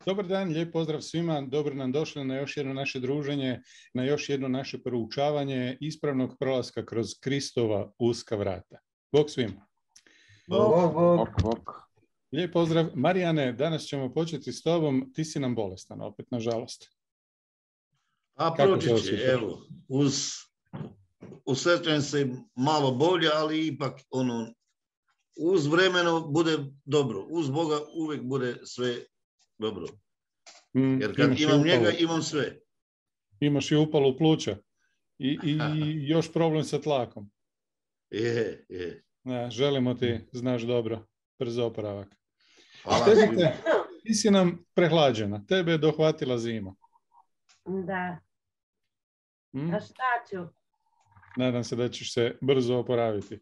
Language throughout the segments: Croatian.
Dobar dan, lijep pozdrav svima, dobro nam došli na još jedno naše druženje, na još jedno naše proučavanje ispravnog prolaska kroz Kristova uska vrata. Bog svima. Bog. Lijep pozdrav. Marijane, danas ćemo početi s tobom, ti si nam bolestan, opet, nažalost. A proći će, evo, usrećujem se malo bolje, ali ipak uz vremeno bude dobro, uz Boga uvijek bude sve dobro. Jer kad imam njega, imam sve. Imaš i upalu pluća i još problem sa tlakom. Je. Želimo ti, znaš dobro, brz oporavak. Hvala. Ti si nam prehlađena, tebe je dohvatila zima. Da. A šta ću? Nadam se da ćeš se brzo oporaviti.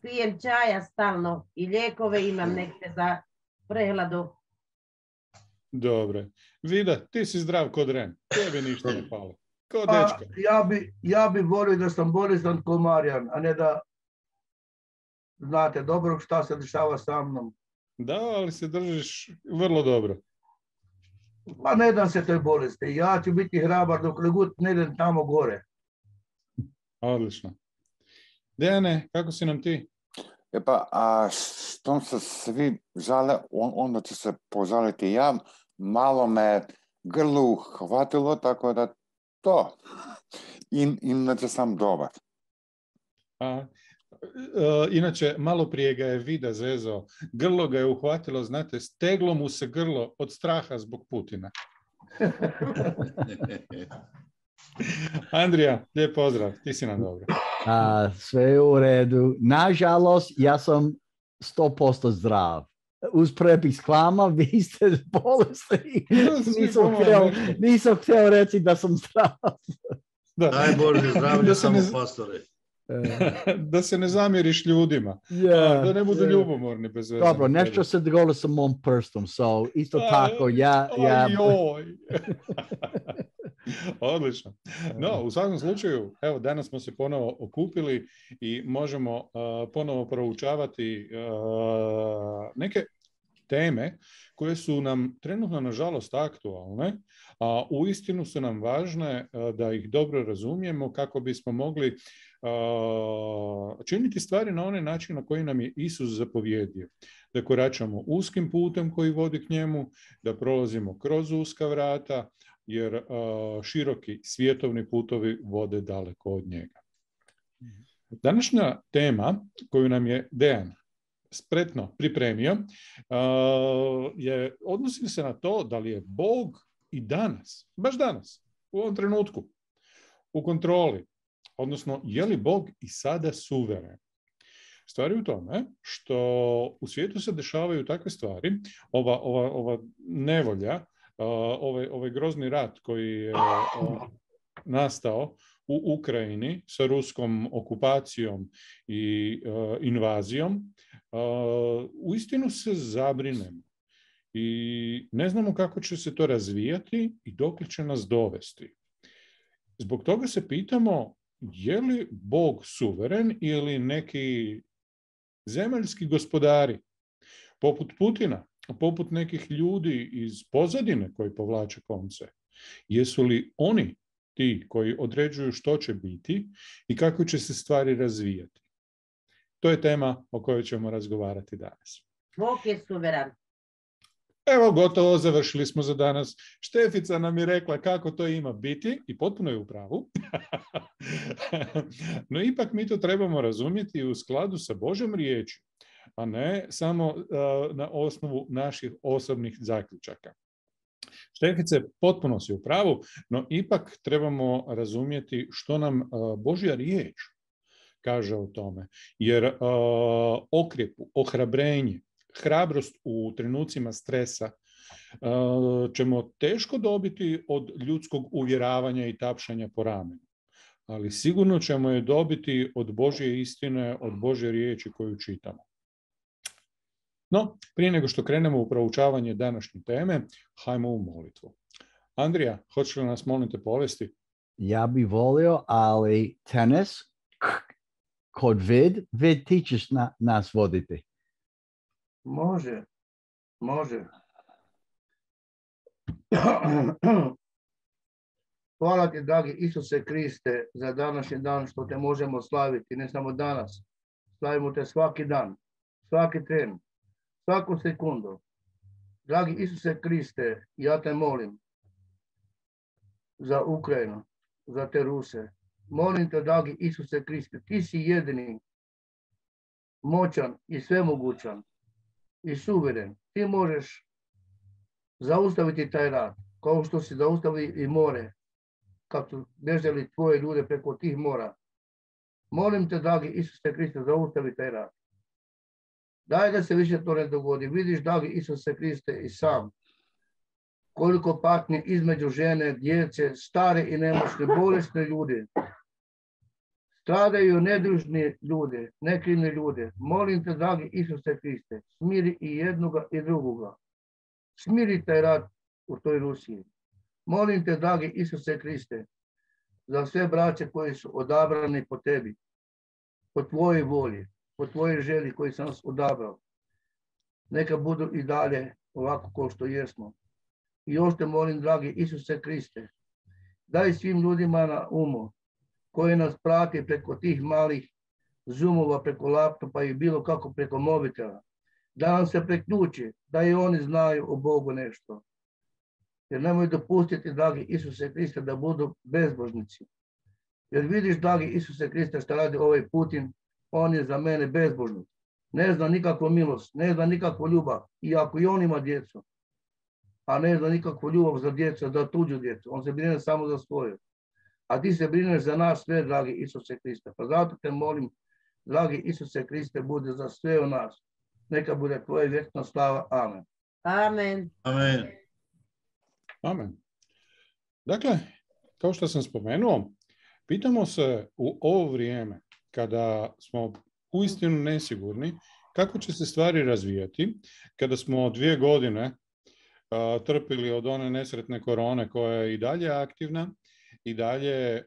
Pijem čaja stalno i lijekove imam neke za prehladu. Dobre. Vida, ti si zdrav kod Ren. Tebi ništa ne pali. Ko dečka. Ja bi volio da sam bolestan ko Marijan, a ne da znate dobro šta se dešava sa mnom. Da, ali se držiš vrlo dobro. Pa ne dam se toj bolesti. Ja ću biti hrabar dok god ne idem tamo gore. Odlično. Dejane, kako si nam ti? A što se svi žale, onda ću se požaliti ja. Malo me grlu hvatilo, tako da to. Inače sam dobar. Inače, malo prije ga je Vida zezao. Grlo ga je uhvatilo, znate, steglo mu se grlo od straha zbog Putina. Andrija, lijep pozdrav, ti si nam dobro. Sve je u redu. Nažalost, ja sam 100% zdrav. Uz prepis k vama, vi ste bolesni. Nisam htio reći da sam zdrav. Daj Bože, zdravlje samo pastore. Da se ne zamjeriš ljudima. Da ne budu ljubomorni bez veze. Dobro, nešto se dogodilo sa mom prstom, so isto tako ja... Odlično. No, u svakom slučaju, evo, danas smo se ponovo okupili i možemo ponovo proučavati neke teme koje su nam trenutno, nažalost, aktualne, a uistinu su nam važne da ih dobro razumijemo kako bismo mogli činiti stvari na onaj način na koji nam je Isus zapovjedio. Da koračamo uskim putem koji vodi k njemu, da prolazimo kroz uska vrata, jer široki svjetovni putovi vode daleko od njega. Današnja tema koju nam je Dejan spretno pripremio odnosi se na to da li je Bog i danas, baš danas, u ovom trenutku, u kontroli, odnosno je li Bog i sada suveren. Stvar je u tome što u svijetu se dešavaju takve stvari, ova nevolja, ovaj grozni rat koji je nastao u Ukrajini sa ruskom okupacijom i invazijom, uistinu se zabrinemo i ne znamo kako će se to razvijati i dokle će nas dovesti. Zbog toga se pitamo, je li Bog suveren ili neki zemaljski gospodari poput Putina, poput nekih ljudi iz pozadine koji povlače konce? Jesu li oni ti koji određuju što će biti i kako će se stvari razvijati? To je tema o kojoj ćemo razgovarati danas. Bog je suveran. Evo, gotovo, završili smo za danas. Štefica nam je rekla kako to ima biti i potpuno je u pravu. No ipak mi to trebamo razumjeti u skladu sa Božjom riječi, a ne samo na osnovu naših osobnih zaključaka. Štefice, potpuno si u pravu, no ipak trebamo razumjeti što nam Božja riječ kaže o tome. Jer okrjepu, ohrabrenje, hrabrost u trenucima stresa ćemo teško dobiti od ljudskog uvjeravanja i tapšanja po ramenu. Ali sigurno ćemo je dobiti od Božje istine, od Božje riječi koju čitamo. No, prije nego što krenemo u proučavanje današnje teme, hajmo u molitvu. Andrija, hoćeš li nas, molim te, povesti? Ja bi volio, ali tenis, kod vid ti ćeš nas voditi. Može. Hvala ti, dragi Isuse Kriste, za današnji dan što te možemo slaviti, ne samo danas. Slavimo te svaki dan, svaki tren, svaku sekundu. Dragi Isuse Kriste, ja te molim za Ukrajinu, za te Ruse. Molim te, dragi Isuse Kriste, ti si jedini, moćan i svemogućan i suveren. Ti možeš zaustaviti taj rat, kao što si zaustavili i more, kad su bježali tvoje ljude preko tih mora. Molim te, dragi Isuse Kriste, zaustavi taj rat. Daj da se više to ne dogodi. Vidiš, dragi Isuse Kriste, i sam koliko patnje između žene, djece, stare i nemoćne, bolesne ljudi. Stradaju nedužni ljudi, nekrivni ljudi. Molim te, dragi Isuse Kriste, smiri i jednoga i drugoga. Smiri taj rat u toj Rusiji. Molim te, dragi Isuse Kriste, za sve braće koji su odabrani po tebi, po tvojoj volji, po tvojoj želji koji sam nas odabrao. Neka budu i dalje ovako kao što jesmo. I još te molim, dragi Isuse Kriste, daj svim ljudima na umu koji nas prati preko tih malih zoomova, preko laptopa i bilo kako preko mobitela, da nam se priključi, da i oni znaju o Bogu nešto. Jer nemoj dopustiti, dragi Isuse Kriste, da budu bezbožnici. Jer vidiš, dragi Isuse Kriste, što radi ovaj Putin, on je za mene bezbožnik. Ne zna nikakvu milost, ne zna nikakvu ljubav, iako i on ima djecu. A ne zna nikakvu ljubav za djecu, za tuđu djecu. On se brine samo za svoju. A ti se brineš za nas sve, dragi Isuse Kriste. Pa zato te molim, dragi Isuse Kriste, bude za sve u nas. Neka bude tvoja vječna slava. Amen. Amen. Amen. Amen. Dakle, kao što sam spomenuo, pitamo se u ovo vrijeme kada smo uistinu nesigurni kako će se stvari razvijati, kada smo 2 godine trpili od one nesretne korone koja je i dalje aktivna, i dalje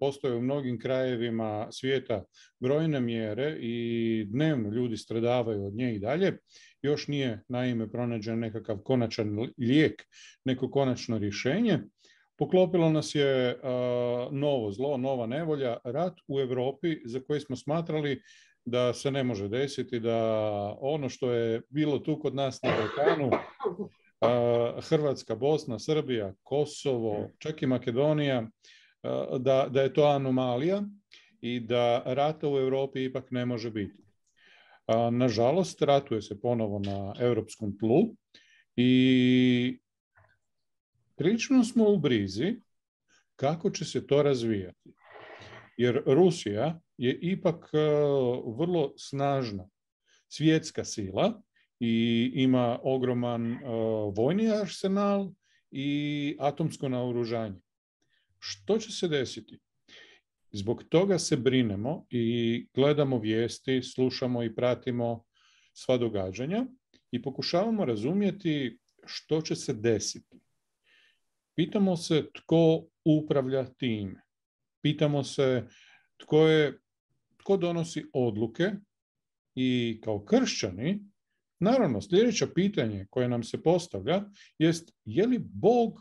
postoje u mnogim krajevima svijeta brojne mjere i dnevno ljudi stradavaju od nje i dalje. Još nije naime pronađen nekakav konačan lijek, neko konačno rješenje. Poklopilo nas je novo zlo, nova nevolja, rat u Europi za koji smo smatrali da se ne može desiti, da ono što je bilo tu kod nas na Balkanu, Hrvatska, Bosna, Srbija, Kosovo, čak i Makedonija, da je to anomalija i da rata u Europi ipak ne može biti. Nažalost, ratuje se ponovo na europskom tlu i prilično smo u brizi kako će se to razvijati. Jer Rusija je ipak vrlo snažna svjetska sila i ima ogroman vojni arsenal i atomsko naoružanje. Što će se desiti? Zbog toga se brinemo i gledamo vijesti, slušamo i pratimo sva događanja i pokušavamo razumjeti što će se desiti. Pitamo se tko upravlja time. Pitamo se tko donosi odluke i kao kršćani, naravno, sljedeće pitanje koje nam se postavlja jest je li Bog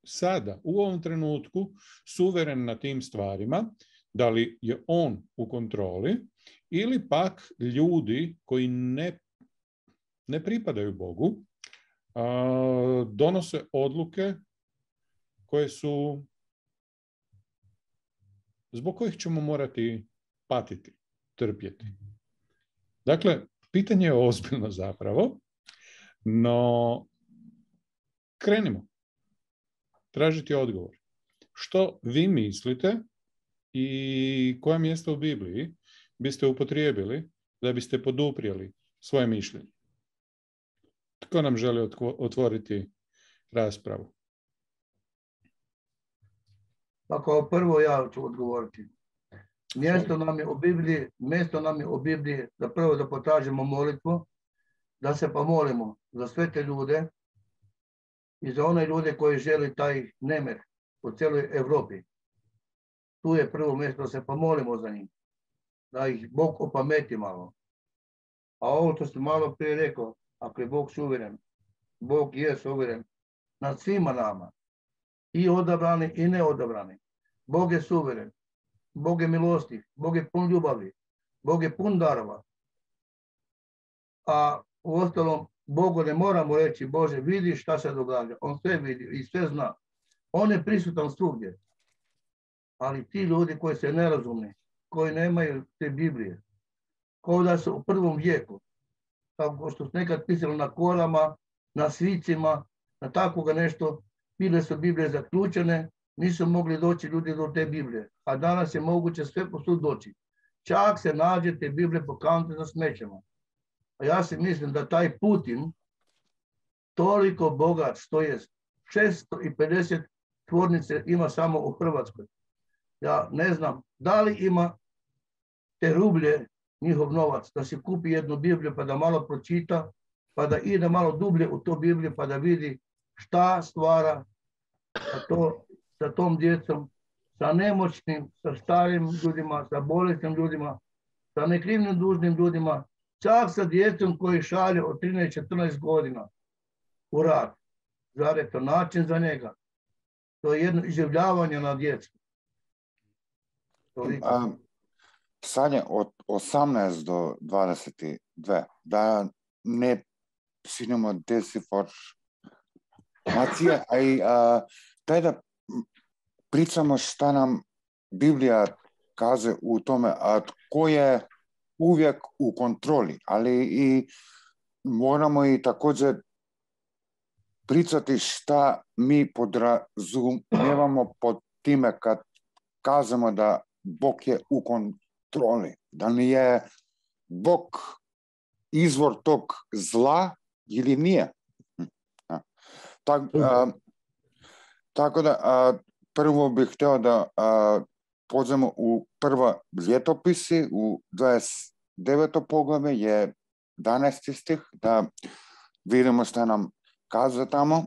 sada, u ovom trenutku, suveren na tim stvarima, da li je on u kontroli ili pak ljudi koji ne pripadaju Bogu donose odluke koje su zbog kojih ćemo morati patiti, trpjeti. Dakle, pitanje je ozbiljno zapravo, no krenimo tražiti odgovor. Što vi mislite i koja mjesta u Bibliji biste upotrijebili da biste poduprijeli svoje mišljenje? Tko nam želi otvoriti raspravu? Pa kao prvo ja ću odgovoriti. Mjesto nam je u Bibliji da prvo da potražimo molitvu, da se pomolimo za sve te ljude i za one ljude koji žele taj nemir u cijeloj Europi. Tu je prvo mjesto da se pomolimo za njih, da ih Bog opameti malo. A ovo što sam malo prije rekao, ako je Bog suveren, Bog je suveren, nad svima nama. I odabrani i neodabrani. Bog je suveren. Bog je milostiv. Bog je pun ljubavi. Bog je pun darova. A u ostalom, Bogu ne moramo reći, Bože, vidi šta se događa. On sve vidi i sve zna. On je prisutan svugdje. Ali ti ljudi koji se nerazumni, koji nemaju te Biblije, kao da su u prvom vijeku, kao što su nekad pisali na korama, na svicima, na takvoga nešto, bile su Biblije zaključene, nisu mogli doći ljudi do te Biblije. A danas je moguće sve posud doći. Čak se nađe te Biblije po kantu za smećama. A ja si mislim da taj Putin toliko bogat što je 650 tvornice ima samo u Hrvatskoj. Ja ne znam da li ima te rublje, njihov novac, da si kupi jednu Bibliju pa da malo pročita, pa da ide malo dublje u to Bibliju pa da vidi šta stvara sa tom djecom, sa nemoćnim, sa starim ljudima, sa bolesnim ljudima, sa nekrivnim dužnim ljudima, čak sa djecom koji šalje od 13-14 godina u rat. Zar je to način za njega? To je jedno iživljavanje na djecu. Sad je od 18 do 22, da ne sinemo desinformacije, a i daj da pričamo šta nam Biblija kaže u tome, a tko je uvijek u kontroli, ali i moramo i također pričati šta mi podrazumijevamo pod time kad kažemo da Bog je u kontroli, da li je Bog izvor tog zla ili nije. Tako da prvo bih htio da pođemo u prva ljetopisi, u 29. poglavlje je 11. stih, da vidimo šta nam kaže tamo.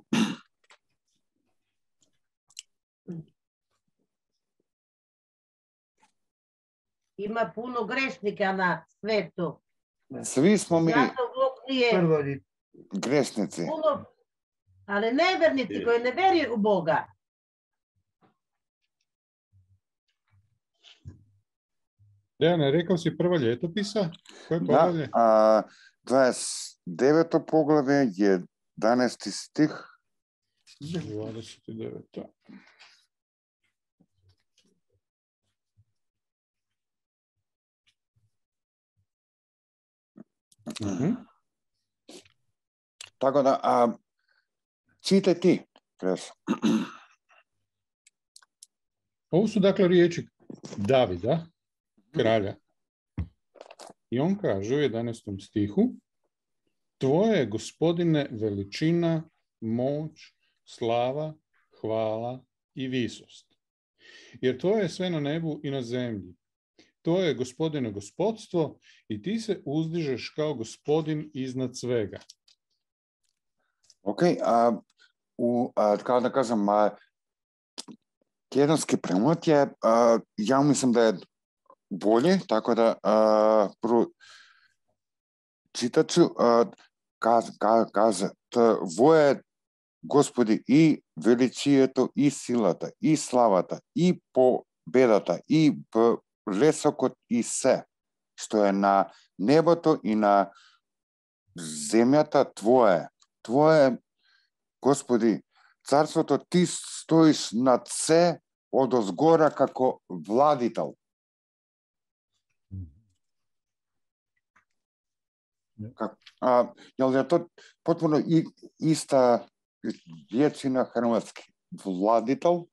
Ima puno grešnika na svetu. Svi smo mi grešnici. Puno, ali nevernici koji ne vjeruju u Boga. Dejane, rekao si prva ljetopisa? Koje poglavlje? Da, 29. poglavlje je 11. stih. 29. Tako da, čitaj ti. Ovo su dakle riječi Davida, kralja. I on kaže u 11. stihu: Tvoje, Gospodine, veličina, moć, slava, hvala i visost. Jer tvoje je sve na nebu i na zemlji. To je, Gospodine, gospodstvo i ti se uzdižeš kao Gospodin iznad svega. Ok, kao da kažem, tjedanski premot je, ja mislim da je bolje, tako da čitat ću, kaže, tvoje, Gospodi, i величието, и силата, и славата, и победата, и блесокот, и се, што е на небото и на земјата твое. Твое, Господи, царството, ти стоиш над се одозгора како владител. Jel je to potpuno ista riječi na hrvatski? Vladitelj?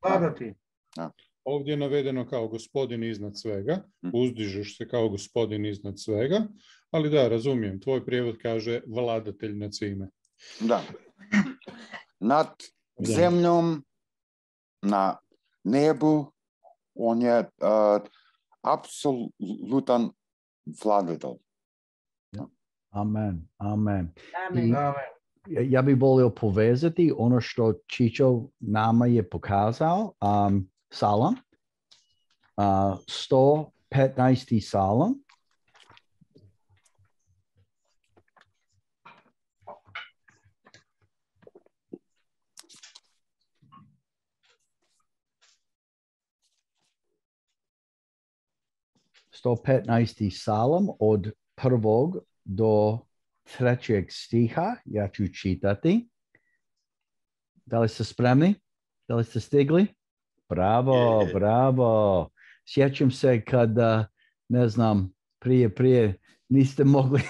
Vladati. Ovdje je navedeno kao Gospodin iznad svega, uzdižeš se kao Gospodin iznad svega, ali da, razumijem, tvoj prijevod kaže vladatelj nad svime. Da. Nad zemljom, na nebu, on je apsolutan vladitelj. Amen, amen. Ja bih volio povezati ono što Čičo nama je pokazao, Salam, 115. Salam. 115. Psalam od 1. do 3. stiha. Ja ću čitati. Da li ste spremni? Da li ste stigli? Bravo, bravo. Sjećam se kada, ne znam, prije niste mogli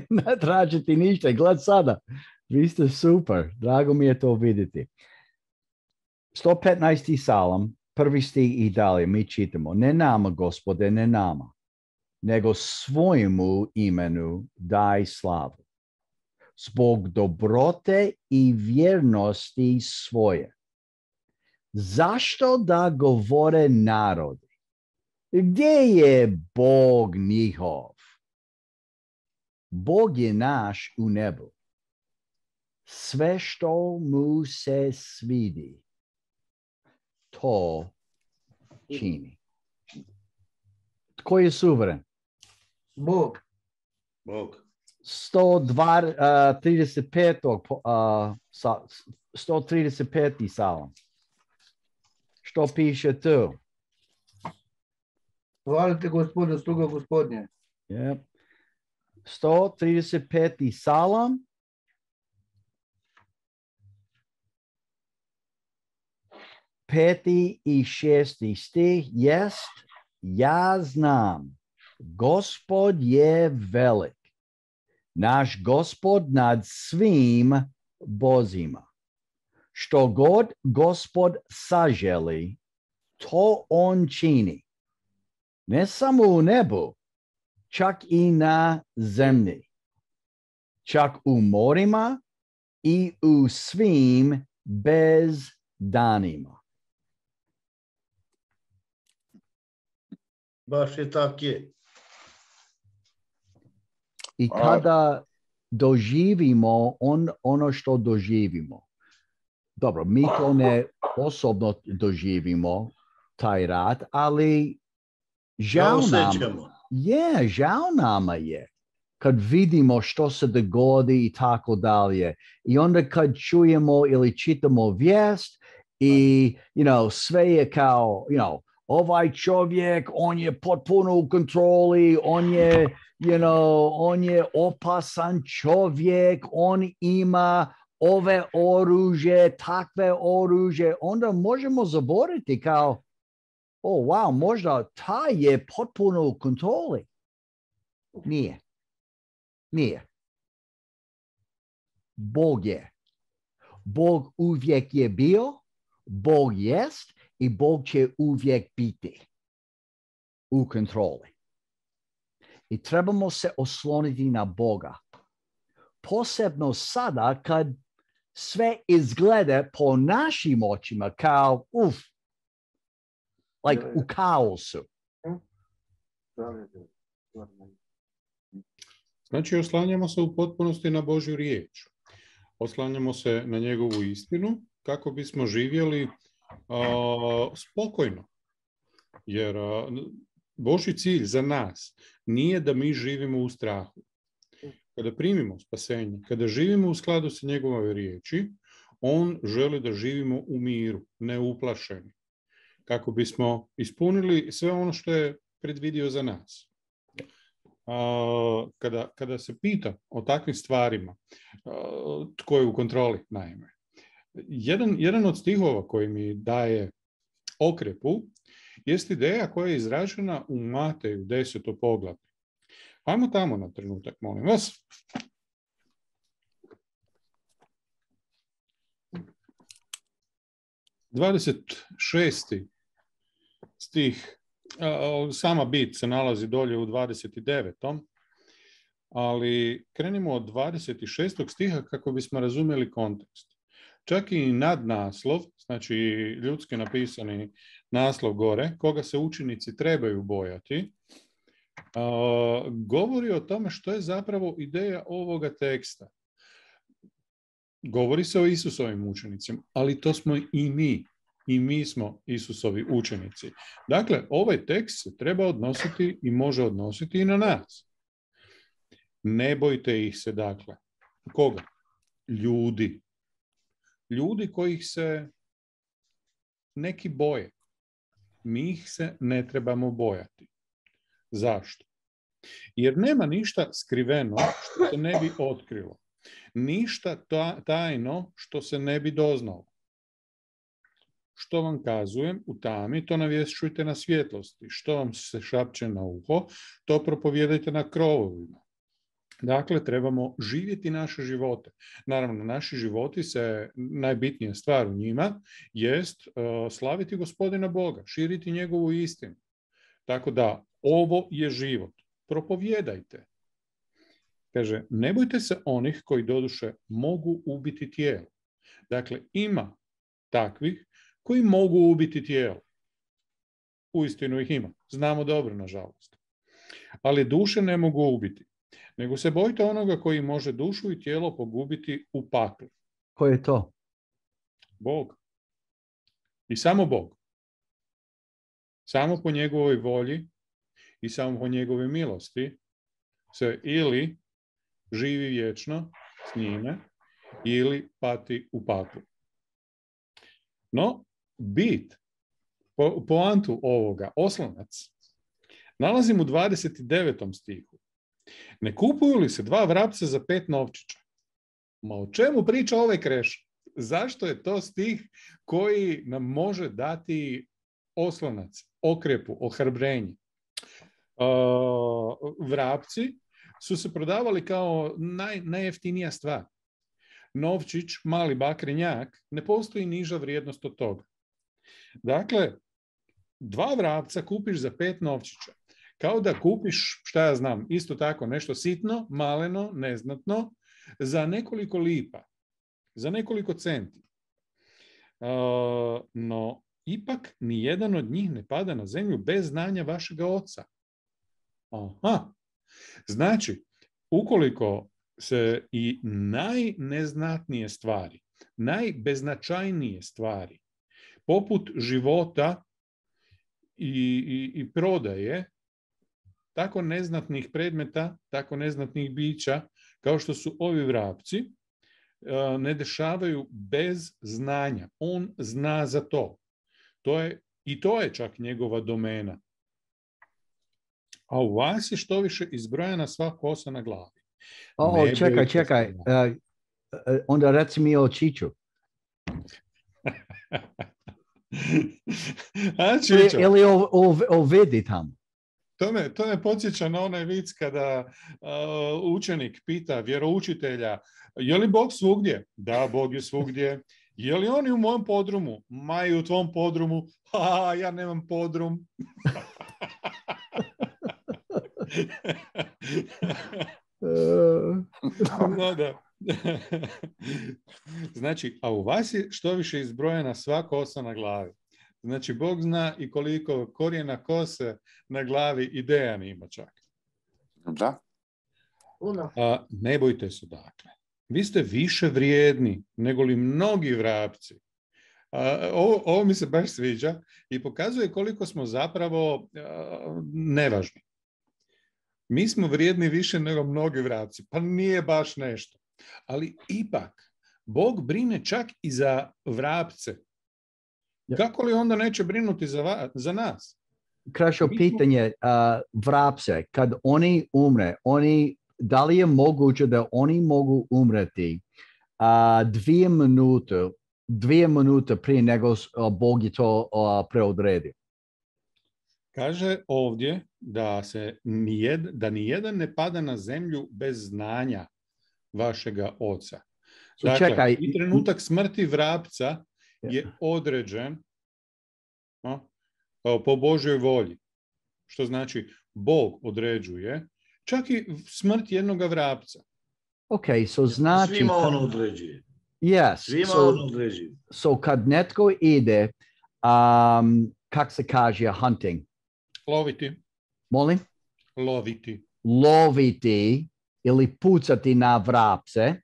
natražiti ništa. Gled sada. Vi ste super. Drago mi je to vidjeti. 115. Psalam, 1. stih i dalje. Mi čitamo. Ne nama, Gospode, ne nama, nego svojemu imenu daj slavu. Zbog dobrote i vjernosti svoje. Zašto da govore narodi? Gdje je Bog njihov? Bog je naš u nebu. Sve što mu se svidi, to čini. Tko je suveren? Bog. 135. Psalam. Što piše tu? Hvalite Gospodu, sluga Gospodnje. Yep. 135. Psalam. Peti i 6. stih jest: ja znam, Gospod je velik, naš Gospod nad svim bozima. Što god Gospod saželi, to on čini. Ne samo u nebu, čak i na zemlji, čak u morima i u svim bezdanima. Baš je tak je. I kada doživimo ono što doživimo, dobro, mi to ne osobno doživimo, taj rat, ali žao nama je kad vidimo što se dogodi i tako dalje. I onda kad čujemo ili čitamo vijest i, sve je kao, ovaj čovjek, on je potpuno u kontroli, on je opasan čovjek, on ima ove oružje, takve oružje, onda možemo zaboraviti kao, wow, možda taj je potpuno u kontroli. Nije. Bog je. Bog uvijek je bio, Bog jest i Bog će uvijek biti u kontroli. I trebamo se osloniti na Boga. Posebno sada kad sve izgleda po našim očima kao u kaosu. Znači, oslanjamo se u potpunosti na Božju riječ. Oslanjamo se na njegovu istinu kako bismo živjeli spokojno. Jer Božji cilj za nas nije da mi živimo u strahu. Kada primimo spasenje, kada živimo u skladu sa njegovoj riječi, on želi da živimo u miru, neuplašeni, kako bismo ispunili sve ono što je predvidio za nas. Kada se pita o takvim stvarima, tko je u kontroli, naime, jedan od stihova koji mi daje okrepu jest ideja koja je izražena u Mateju 10. poglavlju. Ajmo tamo na trenutak, molim vas. ...26. stih, sama bit se nalazi dolje u 29. Ali krenimo od 26. stiha kako bismo razumjeli kontekst. Čak i nadnaslov, znači ljudski napisani naslov gore, koga se učenici trebaju bojati, govori o tome što je zapravo ideja ovoga teksta. Govori se o Isusovim učenicima, ali to smo i mi. I mi smo Isusovi učenici. Dakle, ovaj tekst se treba odnositi i može odnositi i na nas. Ne bojte ih se, dakle. Koga? Ljudi. Ljudi kojih se neki boje. Mi ih se ne trebamo bojati. Zašto? Jer nema ništa skriveno što se ne bi otkrilo. Ništa tajno što se ne bi doznalo. Što vam kazujem u tami, to navješćujte na svjetlosti. Što vam se šapće na uho, to propovijedajte na krovovima. Dakle, trebamo živjeti naše živote. Naravno, naši životi se, najbitnija stvar u njima, jest slaviti Gospodina Boga, širiti njegovu istinu. Tako da, ovo je život. Propovijedajte. Kaže, ne bojte se onih koji doduše mogu ubiti tijelo. Dakle, ima takvih koji mogu ubiti tijelo. Uistinu ih ima. Znamo dobro, nažalost. Ali duše ne mogu ubiti. Nego se bojite onoga koji može dušu i tijelo pogubiti u paklu. Ko je to? Bog. I samo Bog. Samo po njegovoj volji i samo po njegove milosti se ili živi vječno s njime ili pati u paklu. No, bit, poantu ovoga, oslonac, nalazim u 29. stihu. Ne kupuju li se 2 vrapca za 5 novčića? Ma o čemu priča ovaj Krešo? Zašto je to stih koji nam može dati oslonac, okrepu, ohrabrenje? Vrapci su se prodavali kao najjeftinija stvar. Novčić, mali bakrenjak, ne postoji niža vrijednost od toga. Dakle, 2 vrapca kupiš za 5 novčića. Kao da kupiš, šta ja znam, isto tako nešto sitno, maleno, neznatno, za nekoliko lipa, za nekoliko centi. No, ipak ni jedan od njih ne pada na zemlju bez znanja vašega oca. Aha. Znači, ukoliko se i najneznatnije stvari, najbeznačajnije stvari, poput života i prodaje, tako neznatnih predmeta, tako neznatnih bića, kao što su ovi vrapci, ne dešavaju bez znanja. On zna za to. I to je čak njegova domena. A u vas je što više izbrojana sva kosa na glavi. Čekaj. Onda reci mi o Čiću. Ili o vidi tamo. To me podsjeća na onaj vic kada učenik pita vjeroučitelja, je li Bog svugdje? Da, Bog je svugdje. Je li on i u mom podrumu? Ma i u tvom podrumu. Ja nemam podrum. No, da. Znači, a u vas je što više izbrojena sva kosa na glavi. Znači, Bog zna i koliko korijena kose na glavi i Dejan ima čak. Da. Ne bojte se, dakle. Vi ste više vrijedni nego li mnogi vrapci. Ovo mi se baš sviđa i pokazuje koliko smo zapravo nevažni. Mi smo vrijedni više nego mnogi vrapci. Pa nije baš nešto. Ali ipak, Bog brine čak i za vrapce. Kako li onda neće brinuti za nas? Krešo, pitanje vrapce, kad oni umre, da li je moguće da oni mogu umreti 2 minute prije nego Bog je to preodredio? Kaže ovdje da nijedan ne pada na zemlju bez znanja vašega oca. Dakle, i trenutak smrti vrapca je određen po Božjoj volji. Što znači Bog određuje čak i smrt jednoga vrapca. Znači... Svima on određuje. Yes. Svima on određuje. Kad netko ide, kak se kaže hunting? Loviti. Molim? Loviti. Ili pucati na vrapce,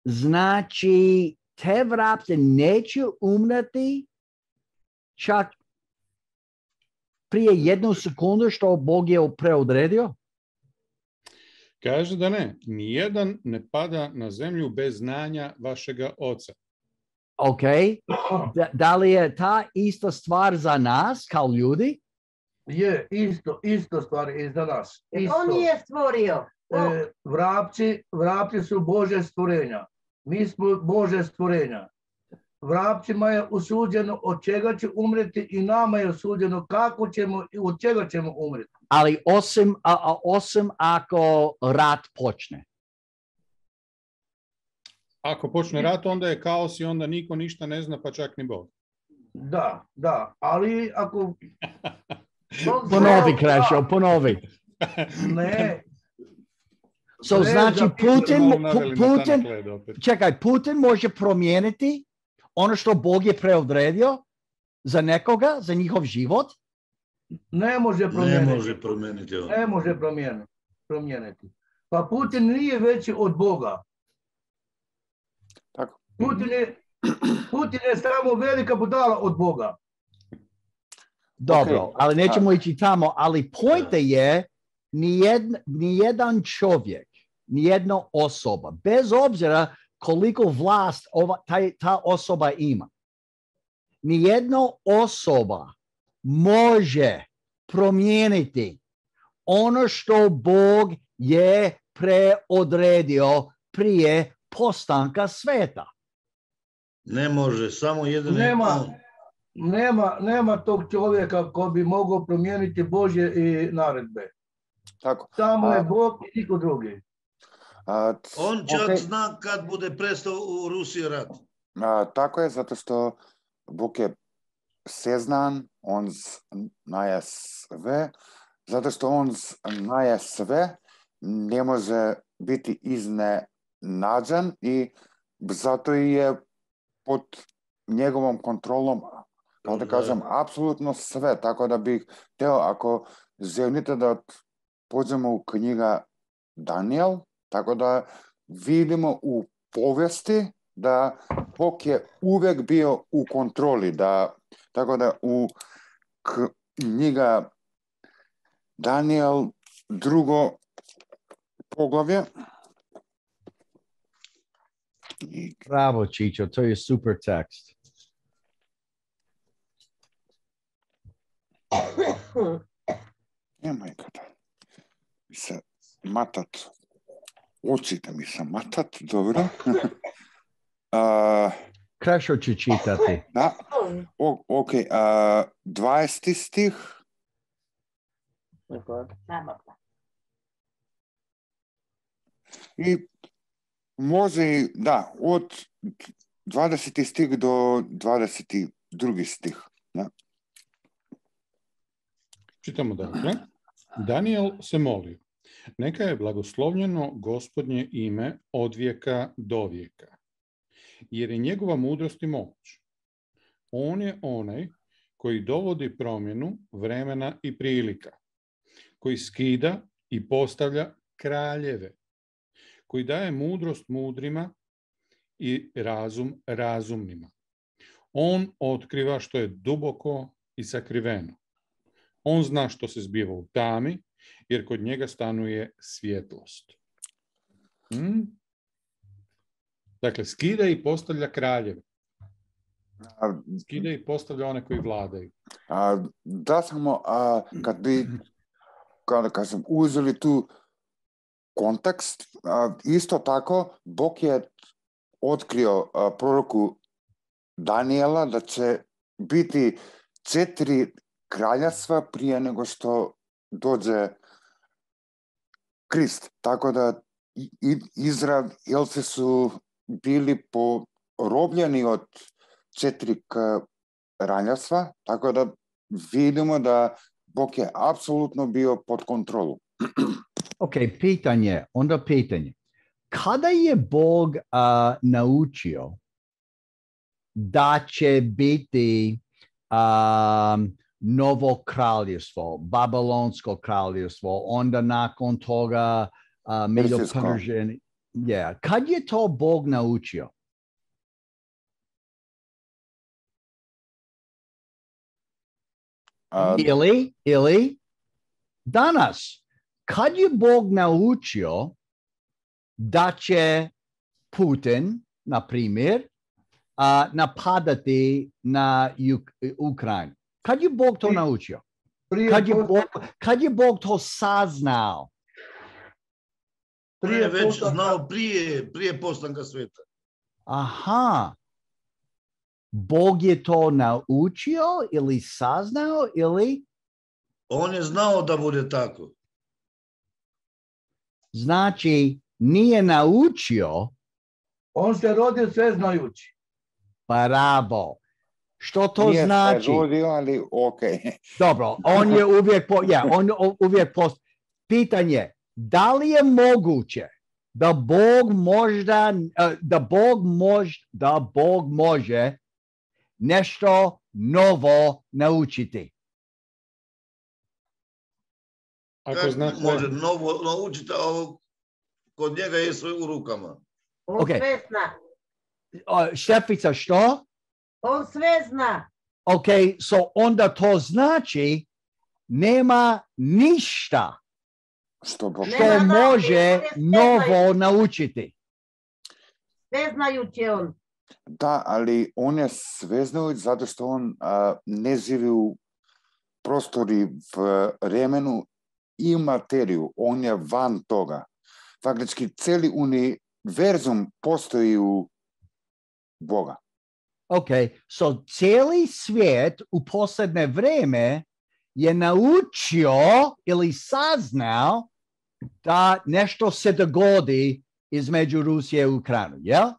znači te vrapce neće umreti čak prije 1 sekundu što Bog je preodredio? Kaže da ne. Nijedan ne pada na zemlju bez znanja vašega oca. Da li je ta ista stvar za nas kao ljudi? Je, isto stvari i za nas. Jer on je stvorio. Vrapci su Bože stvorenja. Mi smo Bože stvorenja. Vrapcima je osuđeno od čega će umreti i nama je osuđeno kako ćemo i od čega ćemo umreti. Ali osim ako rat počne. Ako počne rat, onda je kaos i onda niko ništa ne zna, pa čak ni Bog. Da, ali ako... Ponovi, Krešo, ponovi. Ne. So, znači, Putin može promijeniti ono što Bog je preodredio za nekoga, za njihov život? Ne može promijeniti. Pa Putin nije veći od Boga. Tako. Putin je samo velika budala od Boga. Dobro, ali nećemo ići tamo, ali pojte je nijedan čovjek, nijedna osoba, bez obzira koliko vlast ta osoba ima, nijedna osoba može promijeniti ono što Bog je preodredio prije postanka sveta. Ne može, samo jedan nema tog čovjeka ko bi mogao promijeniti Božje i naredbe. Tako. Samo je Bog i niko drugi. On čak zna kad bude prestao u Rusiji rat. Tako je, zato što Bog je seznan, on znaje sve, zato što on znaje sve, ne može biti iznenađen i zato je pod njegovom kontrolom, kao da kažem, apsolutno sve. Tako da bih htio, ako želite da pođemo u knjiga Daniel, tako da vidimo u povijesti da Bog je uvijek bio u kontroli. Tako da u knjiga Daniel, 2. poglavlje. Bravo, Čičo, to je super tekst. Nemoj kada mi se matat, oči da mi se matat, dobro. Krešo će čitati. Da, ok, 20. stih. I može, da, od 20. stih do 22. stih. Da. Čitamo dakle. Daniel se molio. Neka je blagoslovljeno Gospodnje ime od vijeka do vijeka, jer je njegova mudrost i moć. On je onaj koji dovodi promjenu vremena i prilika, koji skida i postavlja kraljeve, koji daje mudrost mudrima i razum razumnima. On otkriva što je duboko i sakriveno. On zna što se zbiva u tami, jer kod njega stanuje svjetlost. Dakle, skida i postavlja kraljeve. Skida i postavlja one koji vladaju. Da samo, kad bi, kada kažem, uzeli tu kontekst, isto tako, Bog je otkrio proroku Daniela da će biti 4 kraljevstva prije nego što dođe Krist. Tako da Izraelci su bili porobljeni od 4 kraljevstva, tako da vidimo da Bog je apsolutno bio pod kontrolu. Ok, pitanje. Kada je Bog naučio da će biti novo kraljevstvo, Babilonsko kraljevstvo, onda nakon toga Medo-Perzija. Kad je to Bog naučio? Ili danas, kad je Bog naučio da će Putin, na primjer, napadati na Ukrajinu? Kad je Bog to naučio? Kad je Bog to saznao? On je već znao prije postanka sveta. Aha. Bog je to naučio ili saznao ili? On je znao da bude tako. Znači, nije naučio. On se rodio sve znajući. Bravo. Što to Nije znači? se rodio, ali okej. Dobro, on je uvijek pitanje, da li je moguće da Bog može nešto novo naučiti? Kako može novo naučiti, a kod njega je sve u rukama. On sve zna. Štefica, što? On sve zna. Ok, onda to znači nema ništa što može novo naučiti. Sveznajući on. Da, ali on je sveznajuć zato što on ne živi u prostori, v vremenu i materiju. On je van toga. Faktički cijeli univerzum postoji u Boga. Ok, cijeli svijet u posljednje vrijeme je naučio ili saznao da nešto se dogodi između Rusije i Ukrajine. Yeah?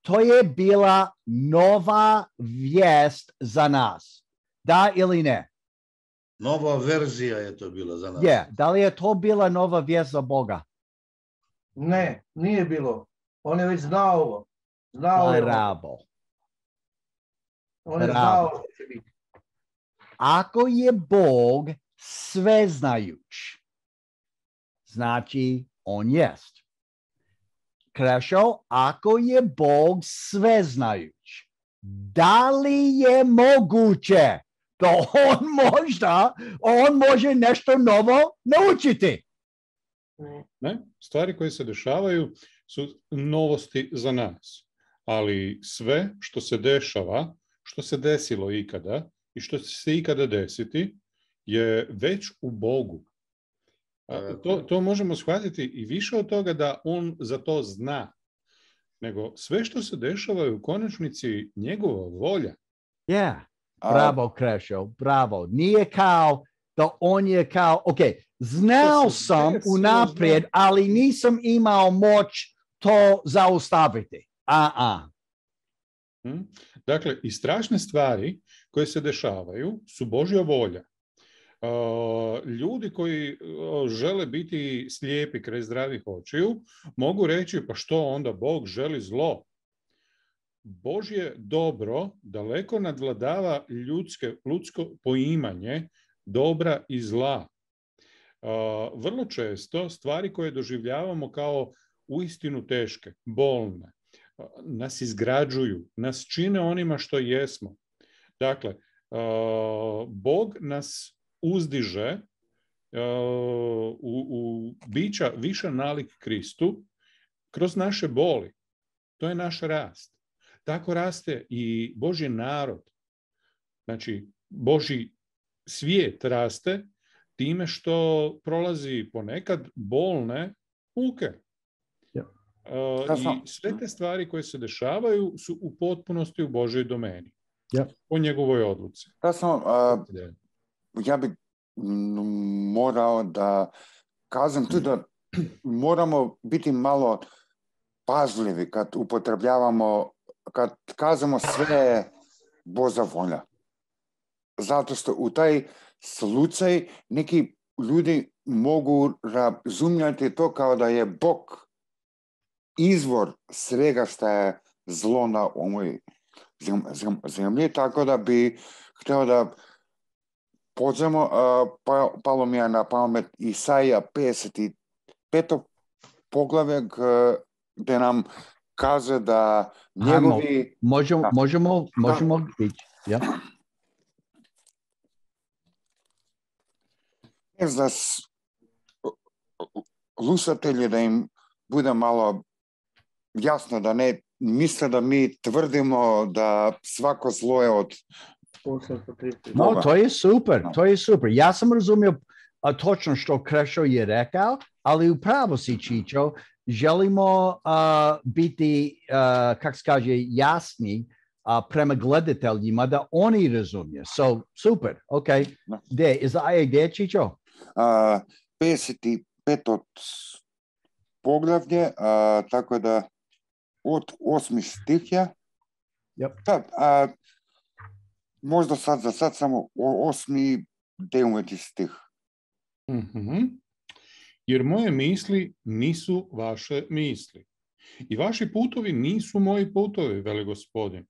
To je bila nova vijest za nas. Da ili ne? Nova verzija je to bila za nas. Da li je to bila nova vijest za Boga? Ne, nije bilo. On je već znao ovo. Bravo. On je znao što će biti. Ako je Bog sveznajuć, znači on jest. Krešo, ako je Bog sveznajuć, da li je moguće da on može nešto novo naučiti? Ne, stvari koje se dešavaju su novosti za nas. Ali sve što se dešava, što se desilo ikada i što će se ikada desiti, je već u Bogu. To možemo shvatiti i više od toga da on za to zna. Nego sve što se dešava je u konačnici njegova volja. Bravo, Krešo, bravo. Nije kao da on je kao, ok, znao sam unaprijed, ali nisam imao moć to zaustaviti. Dakle, i strašne stvari koje se dešavaju su Božja volja. Ljudi koji žele biti slijepi kraj zdravih očiju mogu reći, pa što onda Bog želi zlo? Božje dobro daleko nadvladava ljudsko poimanje dobra i zla. Vrlo često stvari koje doživljavamo kao uistinu teške, bolne, nas izgrađuju, nas čine onima što jesmo. Dakle, Bog nas uzdiže u bića više nalik Kristu kroz naše boli. To je naš rast. Tako raste i Božji narod. Znači, Božji svijet raste time što prolazi ponekad bolne muke. I sve te stvari koje se dešavaju su u potpunosti u Božoj domeni. Po njegovoj odluci. Ja bih morao da kažem tu da moramo biti malo pažljivi kad upotrebljavamo, kad kažemo sve Božja volja. Zato što u taj slučaj neki ljudi mogu razumjeti to kao da je Bog izvor svega što je zlo na ovoj zemlji, tako da bi htio da pođemo, palo mi je na pamet Isaija 55. poglavlje gdje nam kaže da njegovi... Možemo ići. Ja? Za slušatelji da im bude malo jasno, da ne misle da mi tvrdimo da svako zlo je od 830. No, to je super, to je super. Ja sam razumio točno što Krešo je rekao, ali upravo si, Čičo, želimo biti, kako se kaže, jasni prema gledateljima da oni razumiju. So, super, ok. Gdje, Čičo? 55. poglavlje, tako da od 8. stihja. Yep. Možda za sad samo 8. 9. stih. Mm-hmm. Jer moje misli nisu vaše misli. I vaši putovi nisu moji putovi, veli Gospodin.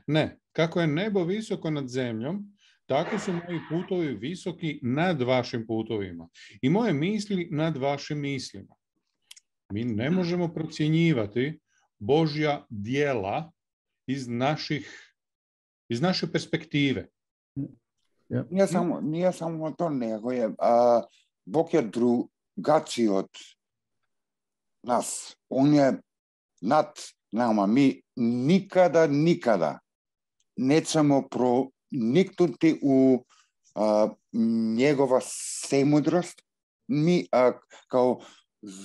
Ne, kako je nebo visoko nad zemljom, tako su moji putovi visoki nad vašim putovima. I moje misli nad vašim mislima. Mi ne možemo procjenjivati Božja djela iz naše perspektive. Nije samo to, nego je Bog je drugačiji od nas. On je nad nama. Mi nikada nećemo proniknuti u njegova svemudrost. Mi kao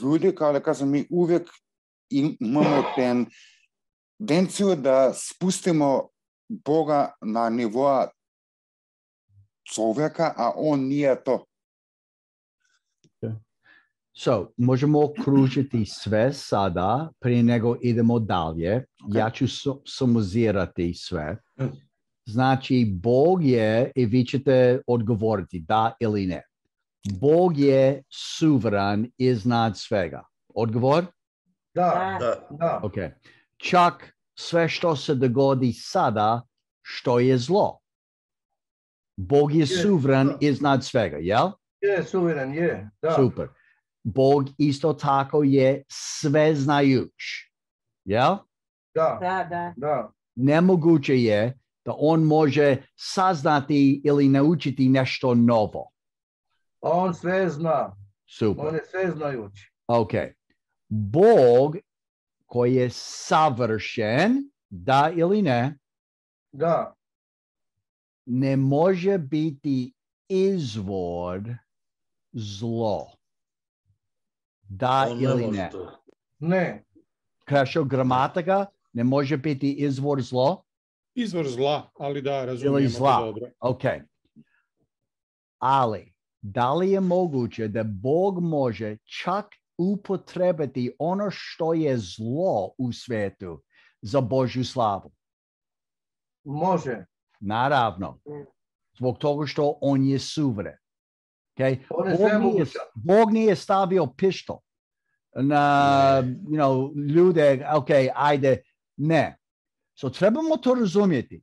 ljudi, kao da kažem, mi uvijek imamo tendenciju da spustimo Boga na nivoa čovjeka, a on nije to. So, možemo okružiti sve sada, prije nego idemo dalje. Okay. Ja ću sumizirati sve. Znači, Bog je, i vi ćete odgovoriti da ili ne. Bog je suveran iznad svega. Odgovor? Da. Ok. Čak sve što se dogodi sada, što je zlo. Bog je suveran iznad svega, jel? Je, suveran je, da. Super. Bog isto tako je sveznajuć, jel? Da. Nemoguće je da on može saznati ili naučiti nešto novo. On sve zna. Super. On je sveznajuć. Ok. Bog koji je savršen, da ili ne? Da. Ne može biti izvor zlo. Da ili ne? Ne. Krešo, gramatika ne može biti izvor zlo? Izvor zla, ali da, razumijemo ili zla. to dobro. Ok. Ali, da li je moguće da Bog može čak upotrebiti ono što je zlo u svijetu za Božju slavu? Može. Naravno. Zbog toga što on je suveren. Okay? Bog nije stavio pištol na ljude, ok, ajde, ne. So trebamo to razumjeti.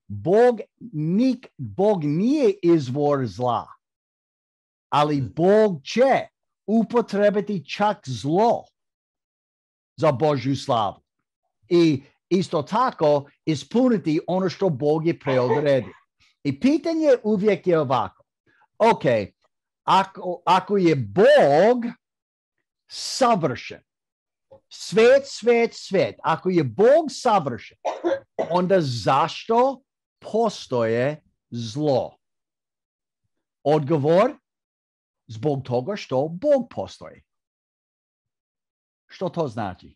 Bog nije izvor zla, ali Bog će upotrebiti čak zlo za Božju slavu. I isto tako ispuniti ono što Bog je preodredio. I pitanje uvijek je ovako. Ok, ako je Bog savršen, svijet, ako je Bog savršen, onda zašto postoje zlo? Odgovor, zbog toga što Bog postoji. Što to znači?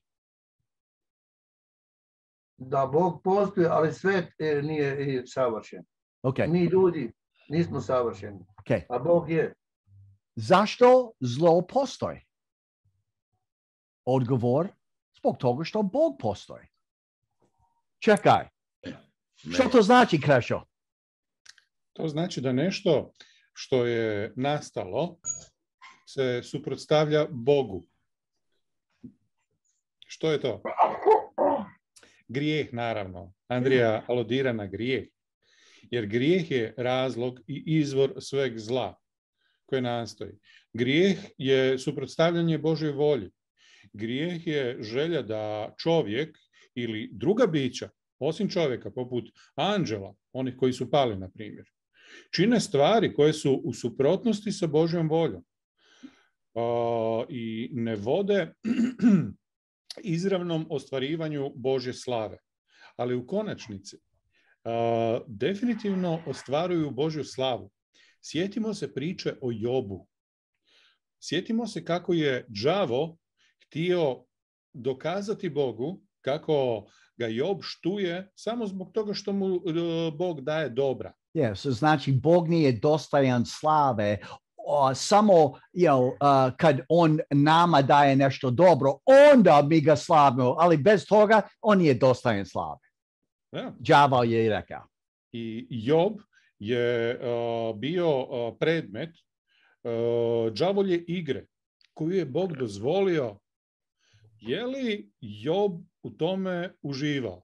Da Bog postoji, ali svijet nije savršen. Okay. Mi ljudi nismo savršeni, a Bog je. Zašto zlo postoji? Odgovor, zbog toga što Bog postoji. Čekaj. Što to znači, Krešo? To znači da nešto što je nastalo se suprotstavlja Bogu. Što je to? Grijeh, naravno. Andrija aludira na grijeh. Jer grijeh je razlog i izvor sveg zla koje nastoji. Grijeh je suprotstavljanje Božoj volji. Grijeh je želja da čovjek ili druga bića, osim čovjeka, poput anđela, onih koji su pali, na primjer, čine stvari koje su u suprotnosti sa Božjom voljom i ne vode izravnom ostvarivanju Božje slave. Ali u konačnici definitivno ostvaruju Božju slavu. Sjetimo se priče o Jobu. Sjetimo se kako je đavo htio dokazati Bogu kako ga Job štuje samo zbog toga što mu Bog daje dobra. Yes, znači Bog nije dostajan slave samo kad on nama daje nešto dobro, onda mi ga slavimo, ali bez toga on nije dostajan slave. Đavo je rekao. I Job je bio predmet đavolje igre koju je Bog dozvolio. Je li Job u tome uživao?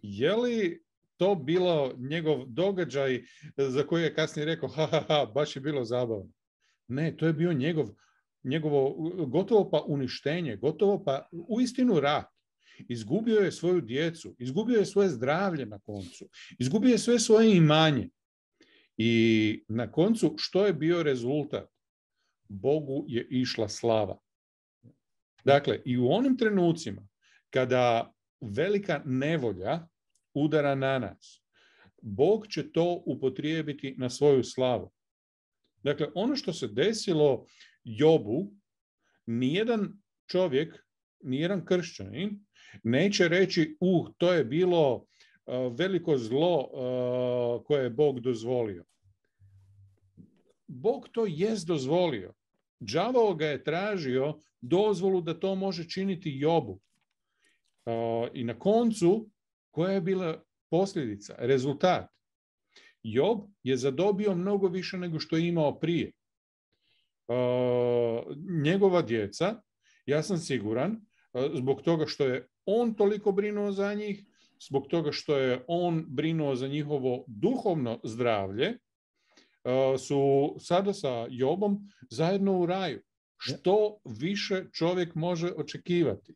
Je li to bilo njegov događaj za koji je kasnije rekao baš je bilo zabavno? Ne, to je bio njegovo gotovo pa uništenje, gotovo pa uistinu rat. Izgubio je svoju djecu, izgubio je svoje zdravlje na koncu, izgubio je sve svoje imanje. I na koncu što je bio rezultat? Bogu je išla slava. Dakle, i u onim trenucima kada velika nevolja udara na nas, Bog će to upotrijebiti na svoju slavu. Dakle, ono što se desilo Jobu, nijedan čovjek, nijedan kršćanin neće reći, to je bilo veliko zlo koje je Bog dozvolio. Bog to jest dozvolio. Đavao ga je tražio dozvolu da to može činiti Jobu. I na koncu, koja je bila posljedica, rezultat? Job je zadobio mnogo više nego što je imao prije. Njegova djeca, ja sam siguran, zbog toga što je on toliko brinuo za njih, zbog toga što je on brinuo za njihovo duhovno zdravlje, su sada sa Jobom zajedno u raju. Što više čovjek može očekivati?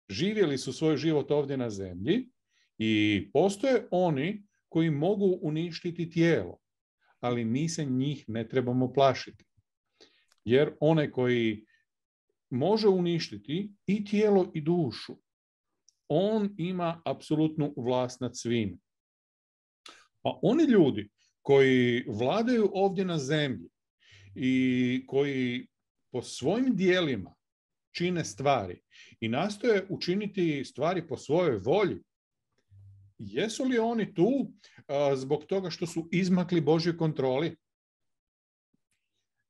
Živjeli su svoj život ovdje na zemlji i postoje oni koji mogu uništiti tijelo, ali mi se njih ne trebamo plašiti. Jer onaj koji može uništiti i tijelo i dušu, on ima apsolutnu vlast nad svim. A oni ljudi koji vladaju ovdje na zemlji i koji po svojim dijelima čine stvari i nastoje učiniti stvari po svojoj volji, jesu li oni tu zbog toga što su izmakli Božjoj kontroli?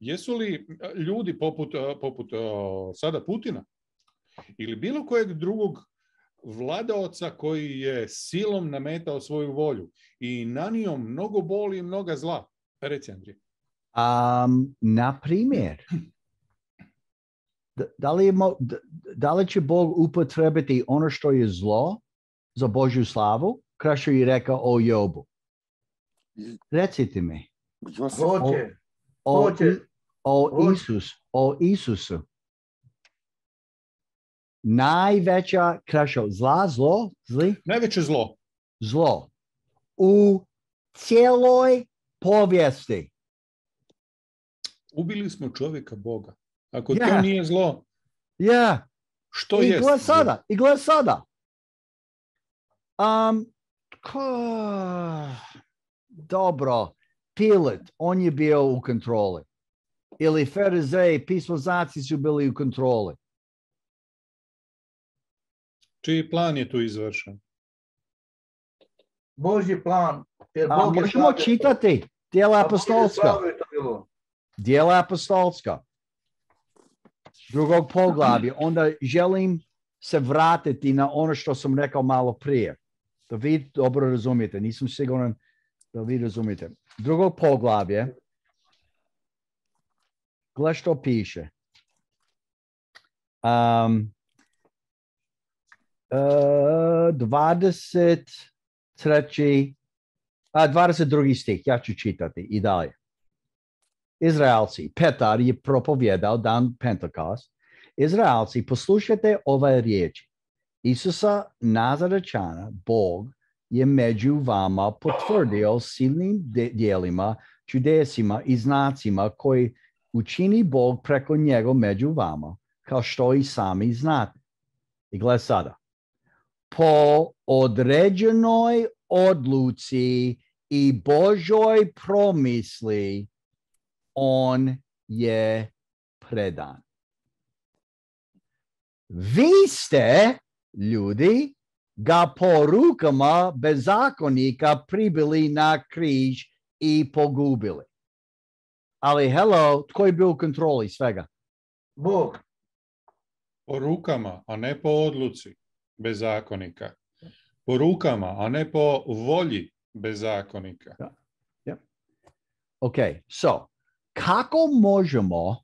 Jesu li ljudi poput sada Putina ili bilo kojeg drugog vladaoca koji je silom nametao svoju volju i nanio mnogo boli i mnoga zla? Reci, Andrije. Na primjer, da li će Bog upotrebiti ono što je zlo za Božju slavu, kao što je rekao o Jobu? Recite mi. O Isusu. Najveća najveće zlo u cijeloj povijesti. Ubili smo čovjeka Boga. Ako to nije zlo, što je? I gled sada. Dobro, Pilat, on je bio u kontroli. Ili Farizeji, pismoznanci su bili u kontroli. Čiji plan je tu izvršen? Božji plan. Možemo čitati Djela apostolska. Djela apostolska. Drugog poglavlja. Onda želim se vratiti na ono što sam rekao malo prije. Da vi dobro razumijete. Nisam siguran da vi razumijete. Drugog poglavlja. Gle što piše. 22. stih, ja ću čitati i dalje. Izraelci, Petar je propovjedao dan Pentekost. Izraelci, poslušajte ove riječi. Isusa Nazarečana, Bog je među vama potvrdio silnim djelima, čudesima i znacima koji učini Bog preko njega među vama, kao što i sami znate. I gled sada. Po određenoj odluci i Božoj promisli, on je predan. Vi ste, ljudi, ga porukama bezakonika pribili na križ i pogubili. Ali, hello, tko je bio u kontroli svega? Bog. Po rukama, a ne po odluci bezakonika. Po rukama, a ne po volji bezakonika. Ok, so, kako možemo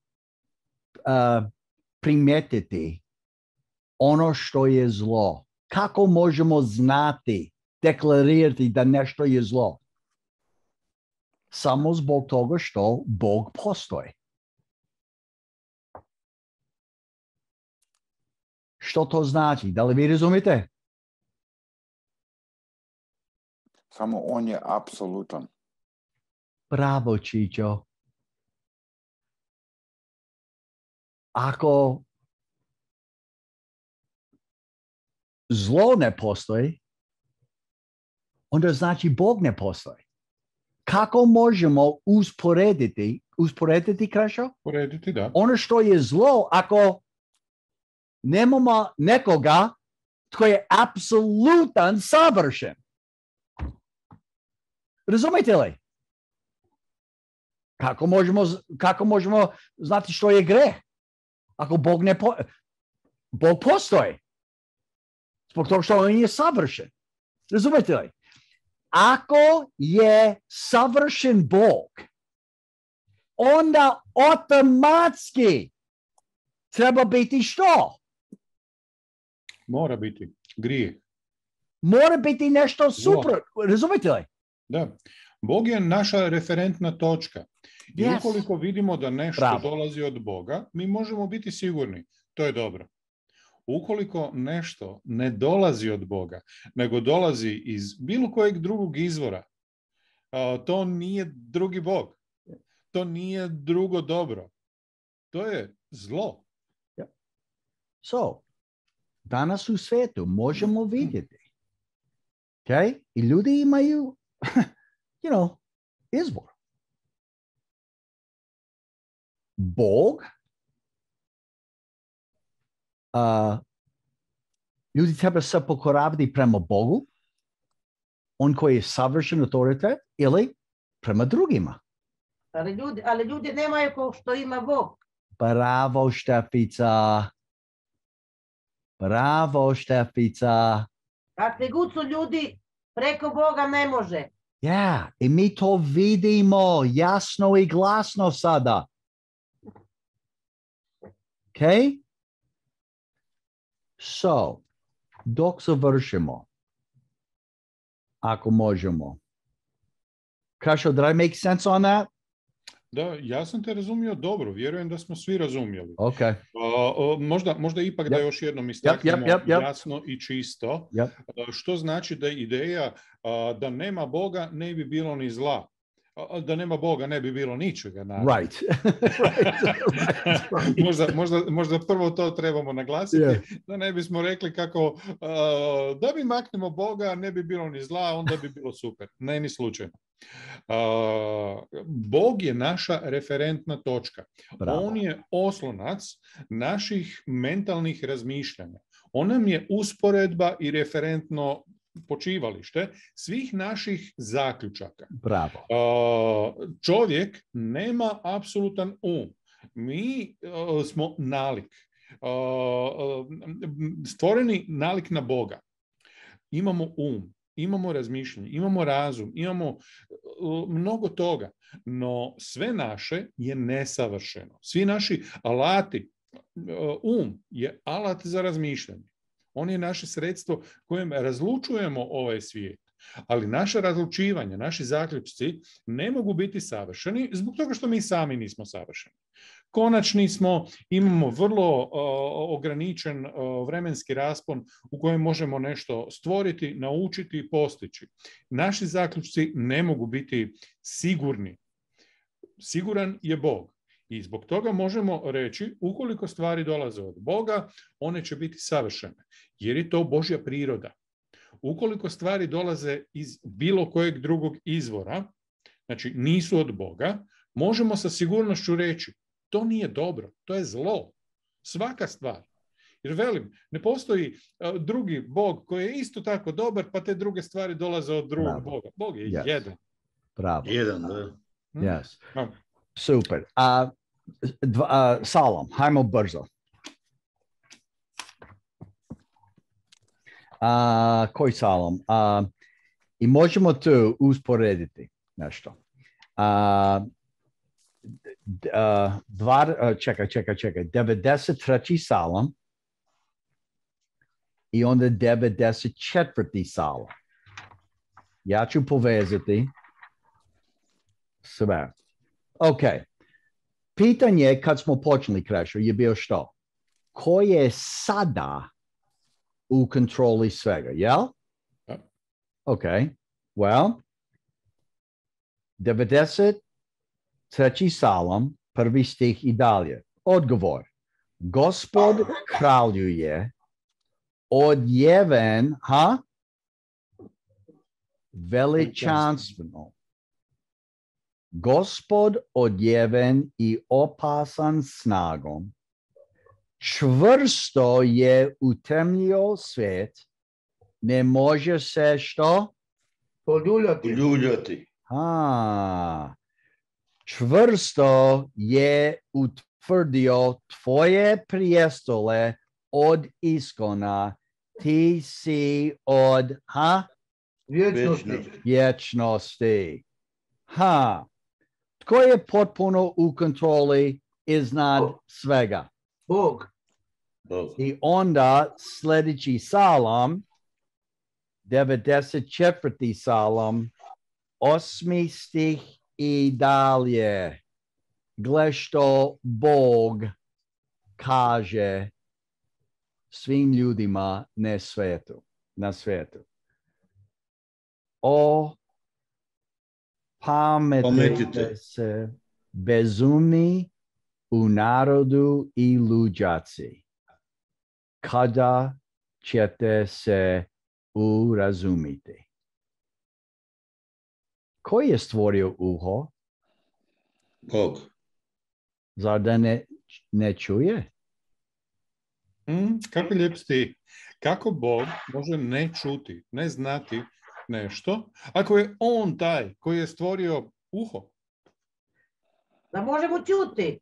primijetiti ono što je zlo? Kako možemo znati, deklarirati da nešto je zlo? Samo zbog toga što Bog postoji. Što to znači? Da li vi razumite? Samo on je apsolutan. Bravo, Čičo. Ako zlo ne postoji, onda znači Bog ne postoji. Kako možemo usporediti Krašo? Usporediti, da. Ono što je zlo, ako nemamo nekoga tko je apsolutan savršen. Razumite li? Kako možemo znati što je greh? Ako Bog Bog postoji. Zbog toga što on je savršen. Razumete li? Ako je savršen Bog, onda automatski treba biti što? Mora biti grijeh. Mora biti nešto super. Razumete li? Da. Bog je naša referentna točka. I Yes. ukoliko vidimo da nešto Bravo. dolazi od Boga, mi možemo biti sigurni. To je dobro. Ukoliko nešto ne dolazi od Boga, nego dolazi iz bilo kojeg drugog izvora, to nije drugi Bog. To nije drugo dobro. To je zlo. So, danas u svijetu možemo vidjeti. Okay? I ljudi imaju, izbor. Bog, ljudi treba se pokoravati prema Bogu, on koji je savršen autoritet, ili prema drugima. Ali ljudi nemaju kao što ima Bog. Bravo, Štefica. Bravo, Štefica. Kakvi god su ljudi, preko Boga ne može. Ja, i mi to vidimo jasno i glasno sada. Okay? So, dok završimo, ako možemo. Kašo, did I make sense on that? Da, ja sam te razumio dobro. Vjerujem da smo svi razumjeli. Okay. Možda ipak da još jednom istaknemo jasno i čisto. Što znači da je ideja da nema Boga ne bi bilo ni zla. Da nema Boga ne bi bilo ničega. Right. Možda prvo to trebamo naglasiti, da ne bismo rekli kako da bi maknemo Boga ne bi bilo ni zla, onda bi bilo super. Ne, ni slučajno. Bog je naša referentna točka. Bravo. On je oslonac naših mentalnih razmišljanja. On nam je usporedba i referentno počivalište svih naših zaključaka. Bravo. Čovjek nema apsolutan um. Mi smo nalik. Stvoreni nalik na Boga. Imamo um, imamo razmišljanje, imamo razum, imamo mnogo toga, no sve naše je nesavršeno. Svi naši alati, je alat za razmišljanje. On je naše sredstvo kojim razlučujemo ovaj svijet. Ali naše razlučivanje, naši zaključci ne mogu biti savršeni zbog toga što mi sami nismo savršeni. Konačni smo, imamo vrlo ograničen vremenski raspon u kojem možemo nešto stvoriti, naučiti i postići. Naši zaključci ne mogu biti sigurni. Siguran je Bog. I zbog toga možemo reći, ukoliko stvari dolaze od Boga, one će biti savršene. Jer je to Božja priroda. Ukoliko stvari dolaze iz bilo kojeg drugog izvora, znači nisu od Boga, možemo sa sigurnošću reći, to nije dobro, to je zlo. Svaka stvar. Jer velim, ne postoji drugi Bog koji je isto tako dobar, pa te druge stvari dolaze od drugog Boga. Bog je jedan. Bravo. Jedan, da. Yes. Super. Salam, hajmo brzo. Koji Salam? I možemo tu usporediti nešto. Čekaj. 93. Salam i onda 94. Salam. Ja ću povezati sve. Ok. Pitanje kad smo počeli Krešo je bio što? Ko je sada u kontroli svega, jel? Ok. Well, 93. Salam, prvi stih i dalje. Odgovor. Gospod kraljuje, odjeven, veličanstveno. Gospod odjeven i opasan snagom. Čvrsto je utemljio svijet. Ne može se što? Poljuljati. Čvrsto je utvrdio tvoje prijestole od iskona. Ti si od vječnosti. Tko je potpuno u kontroli iznad svega? Bog. I onda sljedeći Salam, 94. Salam, 8. stih i dalje. Gle što Bog kaže svim ljudima na svijetu. Pametite se bezumni u narodu i luđaci. Kada ćete se urazumiti? Ko je stvorio uho? Bog. Zar da ne čuje? Kako lijep stih. Kako Bog može ne čuti, ne znati nešto, ako je on taj koji je stvorio uho? Da možemo čuti.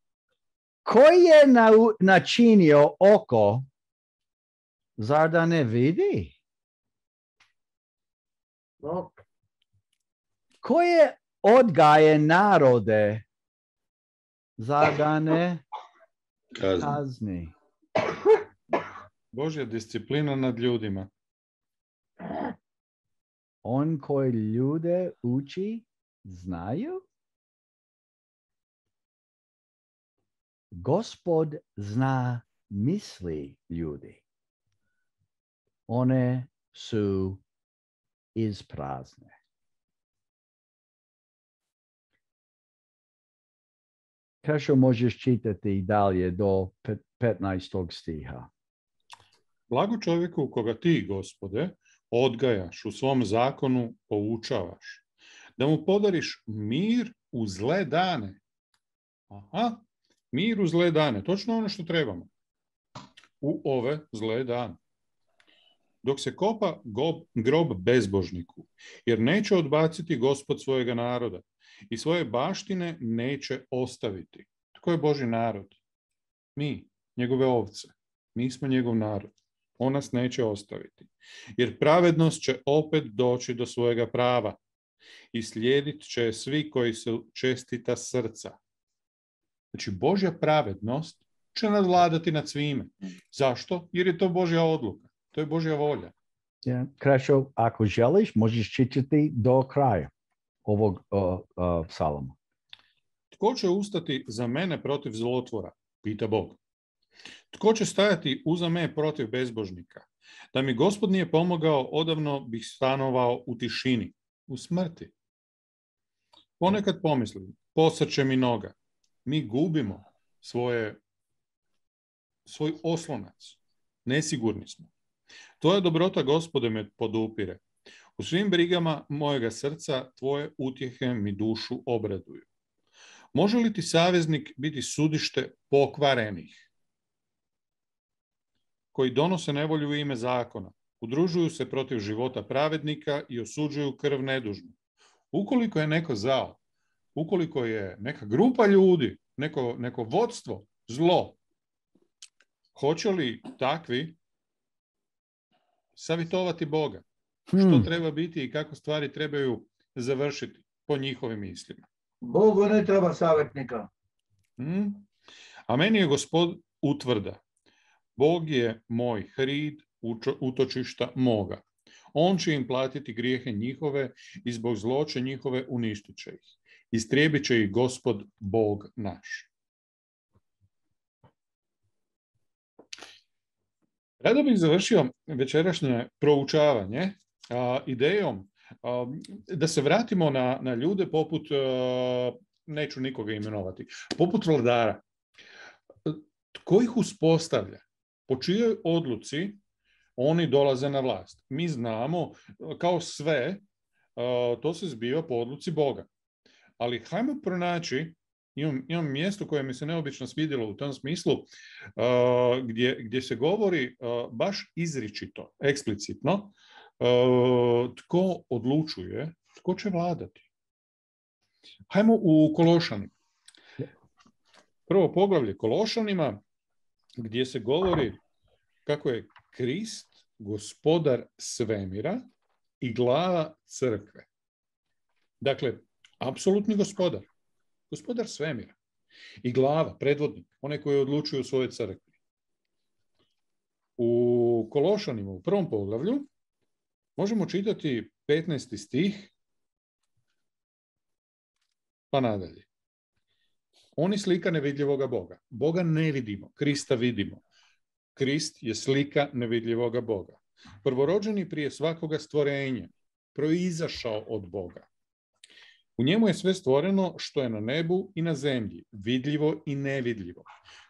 Ko je načinio oko, zar da ne vidi? Bog. Ko je odgaje narode, zar da ne kazni? Božja disciplina nad ljudima. On koji ljude uči, znaju? Gospod zna misli ljudi. One su isprazne. Krešo, možeš čitati dalje do 15. stiha. Blago čovjeku koga ti, Gospode, odgajaš, u svom zakonu poučavaš, da mu podariš mir u zle dane. Mir u zle dane, točno ono što trebamo. U ove zle dane. Dok se kopa grob bezbožniku, jer neće odbaciti Gospod svojega naroda i svoje baštine neće ostaviti. Tko je Božji narod? Mi, njegove ovce. Mi smo njegov narod. On nas neće ostaviti. Jer pravednost će opet doći do svojega prava i slijedit će svi koji su čestita srca. Znači, Božja pravednost će nadvladati nad svime. Zašto? Jer je to Božja odluka. To je Božja volja. Krešo, ako želiš, možeš čitati do kraja ovog psalma. Tko će ustati za mene protiv zlotvora? Pita Bog. Tko će stajati uza me protiv bezbožnika? Da mi Gospod nije pomogao, odavno bih stanovao u tišini, u smrti. Ponekad pomislim, posrće mi noga. Mi gubimo svoj oslonac. Nesigurni smo. Tvoja dobrota, Gospode, me podupire. U svim brigama mojega srca tvoje utjehe mi dušu obraduju. Može li ti saveznik biti sudište pokvarenih, koji donose nevolju u ime zakona, udružuju se protiv života pravednika i osuđuju krv nedužnu? Ukoliko je neko zao, ukoliko je neka grupa ljudi, neko vodstvo zlo, hoće li takvi savjetovati Boga? Što treba biti i kako stvari trebaju završiti po njihovim mislima? Bogu ne treba savjetnika. A meni je Gospod utvrda. Bog je moj hrid, utočišta moga. On će im platiti grijehe njihove i zbog zloće njihove uništit će ih. Istrijebit će ih Gospod Bog naš. Rado bih završio večerašnje proučavanje idejom da se vratimo na ljude poput, neću nikoga imenovati, poput vladara. Tko ih uspostavlja? Po čijoj odluci oni dolaze na vlast? Mi znamo, kao sve, to se zbiva po odluci Boga. Ali hajmo pronaći, imam mjesto koje mi se neobično svidjelo u tom smislu, gdje se govori baš izričito, eksplicitno, tko odlučuje, tko će vladati. Hajmo u Kološanima. Prvo poglavlje Kološanima, gdje se govori kako je Krist gospodar svemira i glava crkve. Dakle, apsolutni gospodar. Gospodar svemira. I glava, predvodnik, onaj koji odlučuje u svojoj crkvi. U Kološanima, u prvom poglavlju, možemo čitati 15. stih, pa nadalje. On je slika nevidljivoga Boga. Boga ne vidimo, Krista vidimo. Krist je slika nevidljivoga Boga. Prvorođeni prije svakoga stvorenja, proizašao od Boga. U njemu je sve stvoreno što je na nebu i na zemlji, vidljivo i nevidljivo.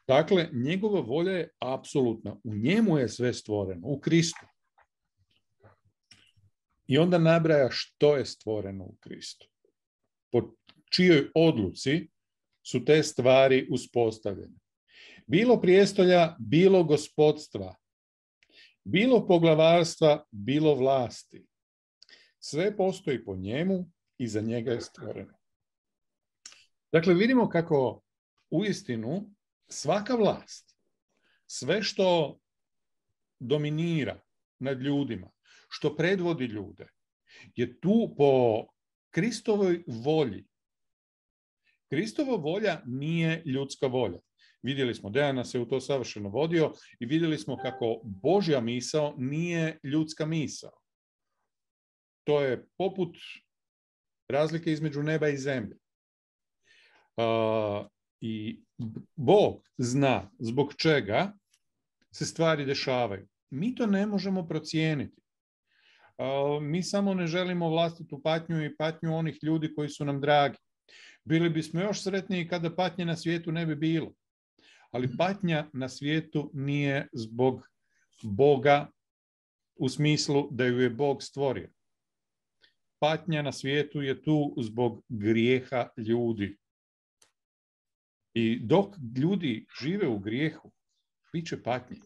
Dakle, njegova volja je apsolutna. U njemu je sve stvoreno, u Kristu. I onda nabraja što je stvoreno u Kristu. Po čijoj odluci su te stvari uspostavljene. Bilo prijestolja, bilo gospodstva, bilo poglavarstva, bilo vlasti. Sve postoji po njemu i za njega je stvoreno. Dakle, vidimo kako uistinu svaka vlast, sve što dominira nad ljudima, što predvodi ljude, je tu po Kristovoj volji. Kristova volja nije ljudska volja. Vidjeli smo, Dejan nas je u to savršeno vodio i vidjeli smo kako Božja misao nije ljudska misao. To je poput razlike između neba i zemlje. I Bog zna zbog čega se stvari dešavaju. Mi to ne možemo procijeniti. Mi samo ne želimo vlastitu patnju i patnju onih ljudi koji su nam dragi. Bili bismo još sretniji kada patnje na svijetu ne bi bilo. Ali patnja na svijetu nije zbog Boga u smislu da ju je Bog stvorio. Patnja na svijetu je tu zbog grijeha ljudi. I dok ljudi žive u grijehu, bit će patnje.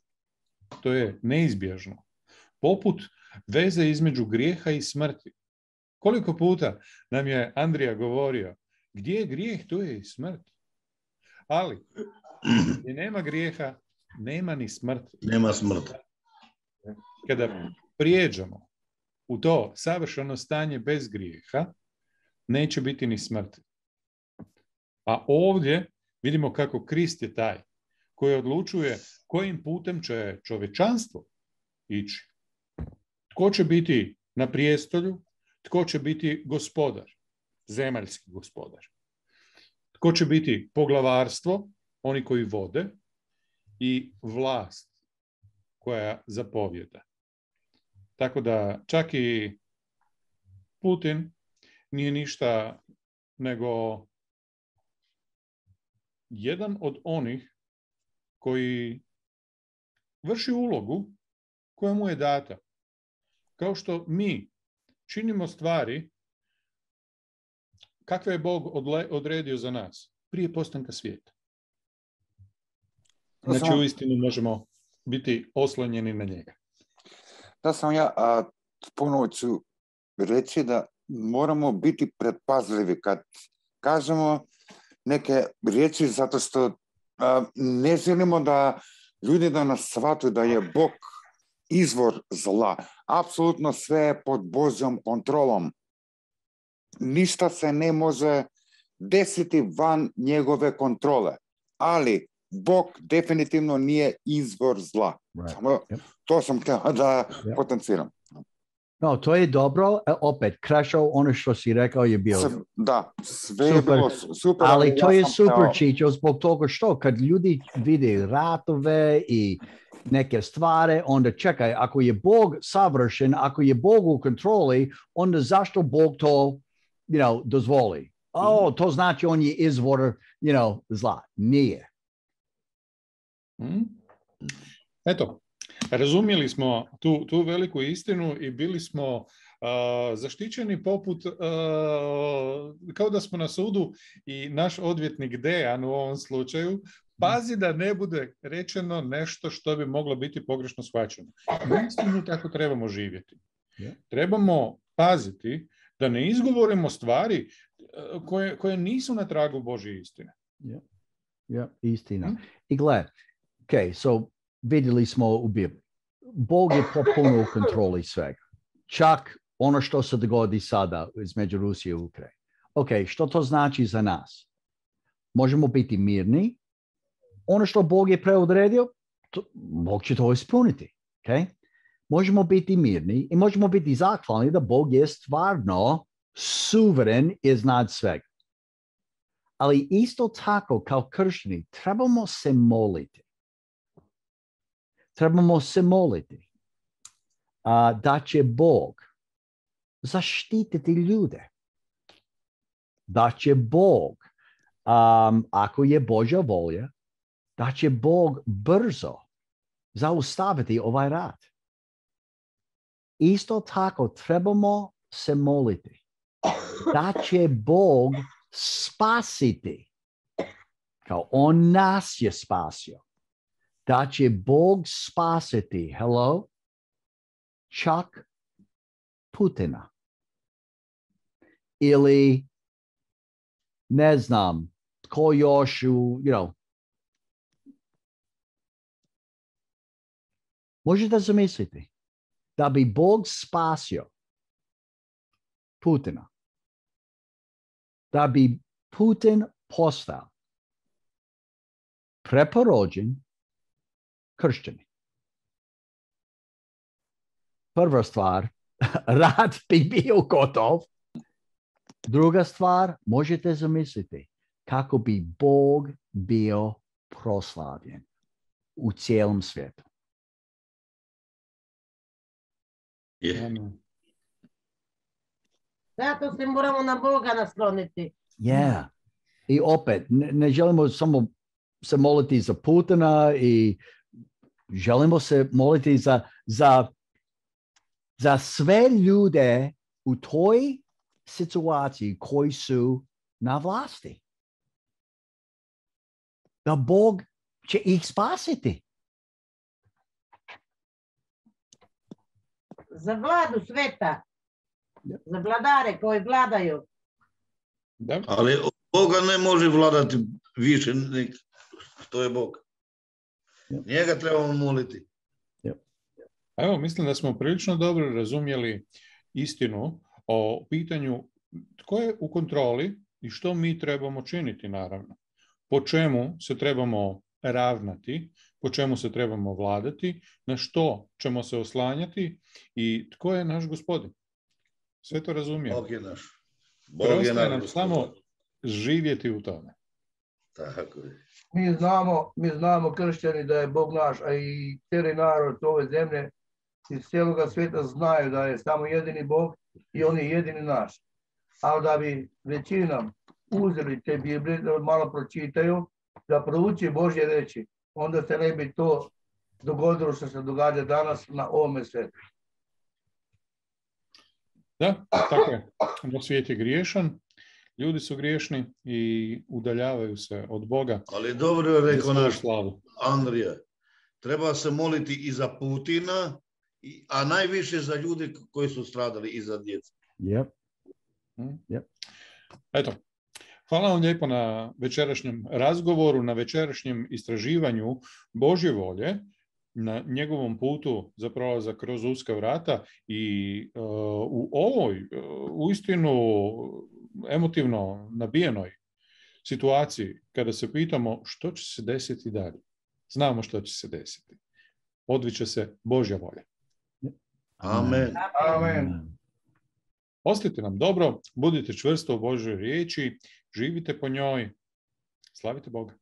To je neizbježno. Poput veze između grijeha i smrti. Koliko puta nam je Andrija govorio, gdje je grijeh, tu je i smrt. Ali, gdje nema grijeha, nema ni smrti. Nema smrti. Kada prijeđemo u to savršeno stanje bez grijeha, neće biti ni smrti. A ovdje vidimo kako Krist je taj koji odlučuje kojim putem će čovječanstvo ići. Tko će biti na prijestolju, tko će biti gospodar, zemaljski gospodar. Tko će biti poglavarstvo, oni koji vode, i vlast koja zapovjeda. Tako da čak i Putin nije ništa nego jedan od onih koji vrši ulogu koja mu je data. Kao što mi činimo stvari kakve je Bog odredio za nas prije postanka svijeta. Znači, uistinu možemo biti oslonjeni na njega. Da sam ja ponovo ću reći da moramo biti predpazljivi kad kažemo neke riječi zato što ne želimo da ljudi da nas shvatuju da je Bog izvor zla. Apsolutno sve je pod Božjom kontrolom. Ništa se ne može desiti van njegove kontrole. Ali Bog definitivno nije izvor zla. To sam htio da potenciram. No, to je dobro. Opet, Krešo, ono što si rekao je bilo. Da, sve je bilo super. Ali to je super, Čičo, zbog toga što kad ljudi vide ratove i neke stvari, onda čekaj, ako je Bog savršen, ako je Bog u kontroli, onda zašto Bog to, dozvoli? To znači on je izvor, zla. Nije. Eto, razumjeli smo tu veliku istinu i bili smo zaštićeni poput, kao da smo na sudu i naš odvjetnik Dejan u ovom slučaju pazi da ne bude rečeno nešto što bi moglo biti pogrešno shvaćeno. Uistinu tako trebamo živjeti. Trebamo paziti da ne izgovorimo stvari koje nisu na tragu Božje istine. Istina. I gle, so vidjeli smo u Bibliji. Bog je potpuno u kontroli svega. Čak ono što se dogodi sada između Rusije i Ukrajine. Što to znači za nas? Možemo biti mirni. Ono što Bog je preodredio, Bog će to ispuniti. Možemo biti mirni i možemo biti zahvalni da Bog je stvarno suveren iznad svega. Ali isto tako kao kršćani trebamo se moliti. Trebamo se moliti da će Bog zaštititi ljude. Da će Bog, ako je Božja volja, da će Bog brzo zaustaviti ovaj rat. Isto tako trebamo se moliti da će Bog spasiti, kao on nas je spasio. Da će Bog spasiti, čak Putina. Ili, ne znam, tko još možete zamisliti da bi Bog spasio Putina. Da bi Putin postao preporođen kršćani. Prva stvar, rat bi bio gotov. Druga stvar, možete zamisliti kako bi Bog bio proslavljen u cijelom svijetu. Zato se moramo na Boga nasloniti. I opet, ne želimo samo se moliti za Putina i želimo se moliti za sve ljude u toj situaciji koji su na vlasti. Da Bog će ih spasiti. Za vladu sveta. Za vladare koji vladaju. Da. Ali Boga ne može vladati više nego što je Bog. Njega trebamo moliti. Evo, mislim da smo prilično dobro razumjeli istinu o pitanju tko je u kontroli i što mi trebamo činiti, naravno. Po čemu se trebamo ravnati, po čemu se trebamo vladati, na što ćemo se oslanjati i tko je naš gospodin. Sve to razumijemo. Bog je naš. Preostaje nam samo živjeti u tome. Tako je. Mi znamo kršćani da je Bog naš, a i cijeli narod ove zemlje iz cijeloga svijeta znaju da je samo jedini Bog i on je jedini naš. Ali da bi većina uzeli te Biblije, da malo pročitaju, da prouči Božje reči, onda se ne bi to dogodilo što se događa danas na ovome svijetu. Da, tako je. Svijet je griješan, ljudi su griješni i udaljavaju se od Boga. Ali dobro je rekao naš slavu. Andrija. Treba se moliti i za Putina, a najviše za ljude koji su stradali i za djecu. Yep. Eto, hvala vam lijepo na večerašnjem razgovoru, na večerašnjem istraživanju Božje volje, na njegovom putu za prolazak kroz uska vrata i u ovoj uistinu emotivno nabijenoj situaciji kada se pitamo što će se desiti dalje. Znamo što će se desiti. Odviće se Božja volja. Amen. Amen. Ostite nam dobro, budite čvrsto u Božjoj riječi, živite po njoj, slavite Boga.